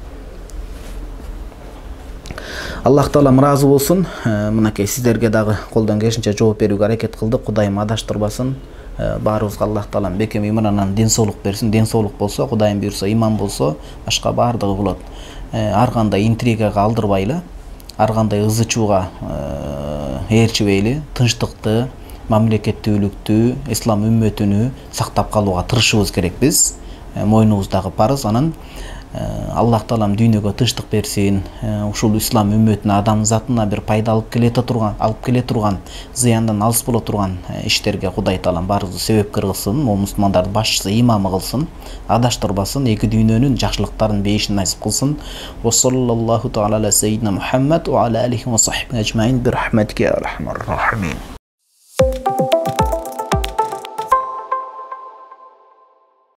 Аллах Таала ыраазы болсун. Мынакей сиздерге дагы колдон келишинче жооп берүүгө аракет кылдык. Кудайым адаштырбасын. Баарыбызга Аллах Таалам бекем имандан ден соолук берсин. Ден соолук болсо, Кудайым буйрса, иман болсо, башка баардыгы болот. Ар кандай интригага алдырбайлы, ар кандай ызы-чууга ээрчибейли, тынчтыкты, мамлекеттүүлүктү, ислам үммөтүнү сактап калууга тырышыбыз керек биз. Мойнубуздагы парыз. Анан Аллах Таалам дүйнөгө тынчтык берсин. Ушул ислам үммөтүнө, адам затына бир пайда алып келе турган, алып келе турган, зыяндан алыс боло турган иштерге Кудай Таалам баарыбызды себепкер кылсын. Ол мусулмандардын башчысы, имамы кылсын, адаштырбасын, эки дүйнөнүн жакшылыктарын бейишин насип кылсын. Ва саллаллаху таала аля саййидина Мухаммад ва аля алихи ва сахбихи ажмаин би рахматика я архамар рахимин.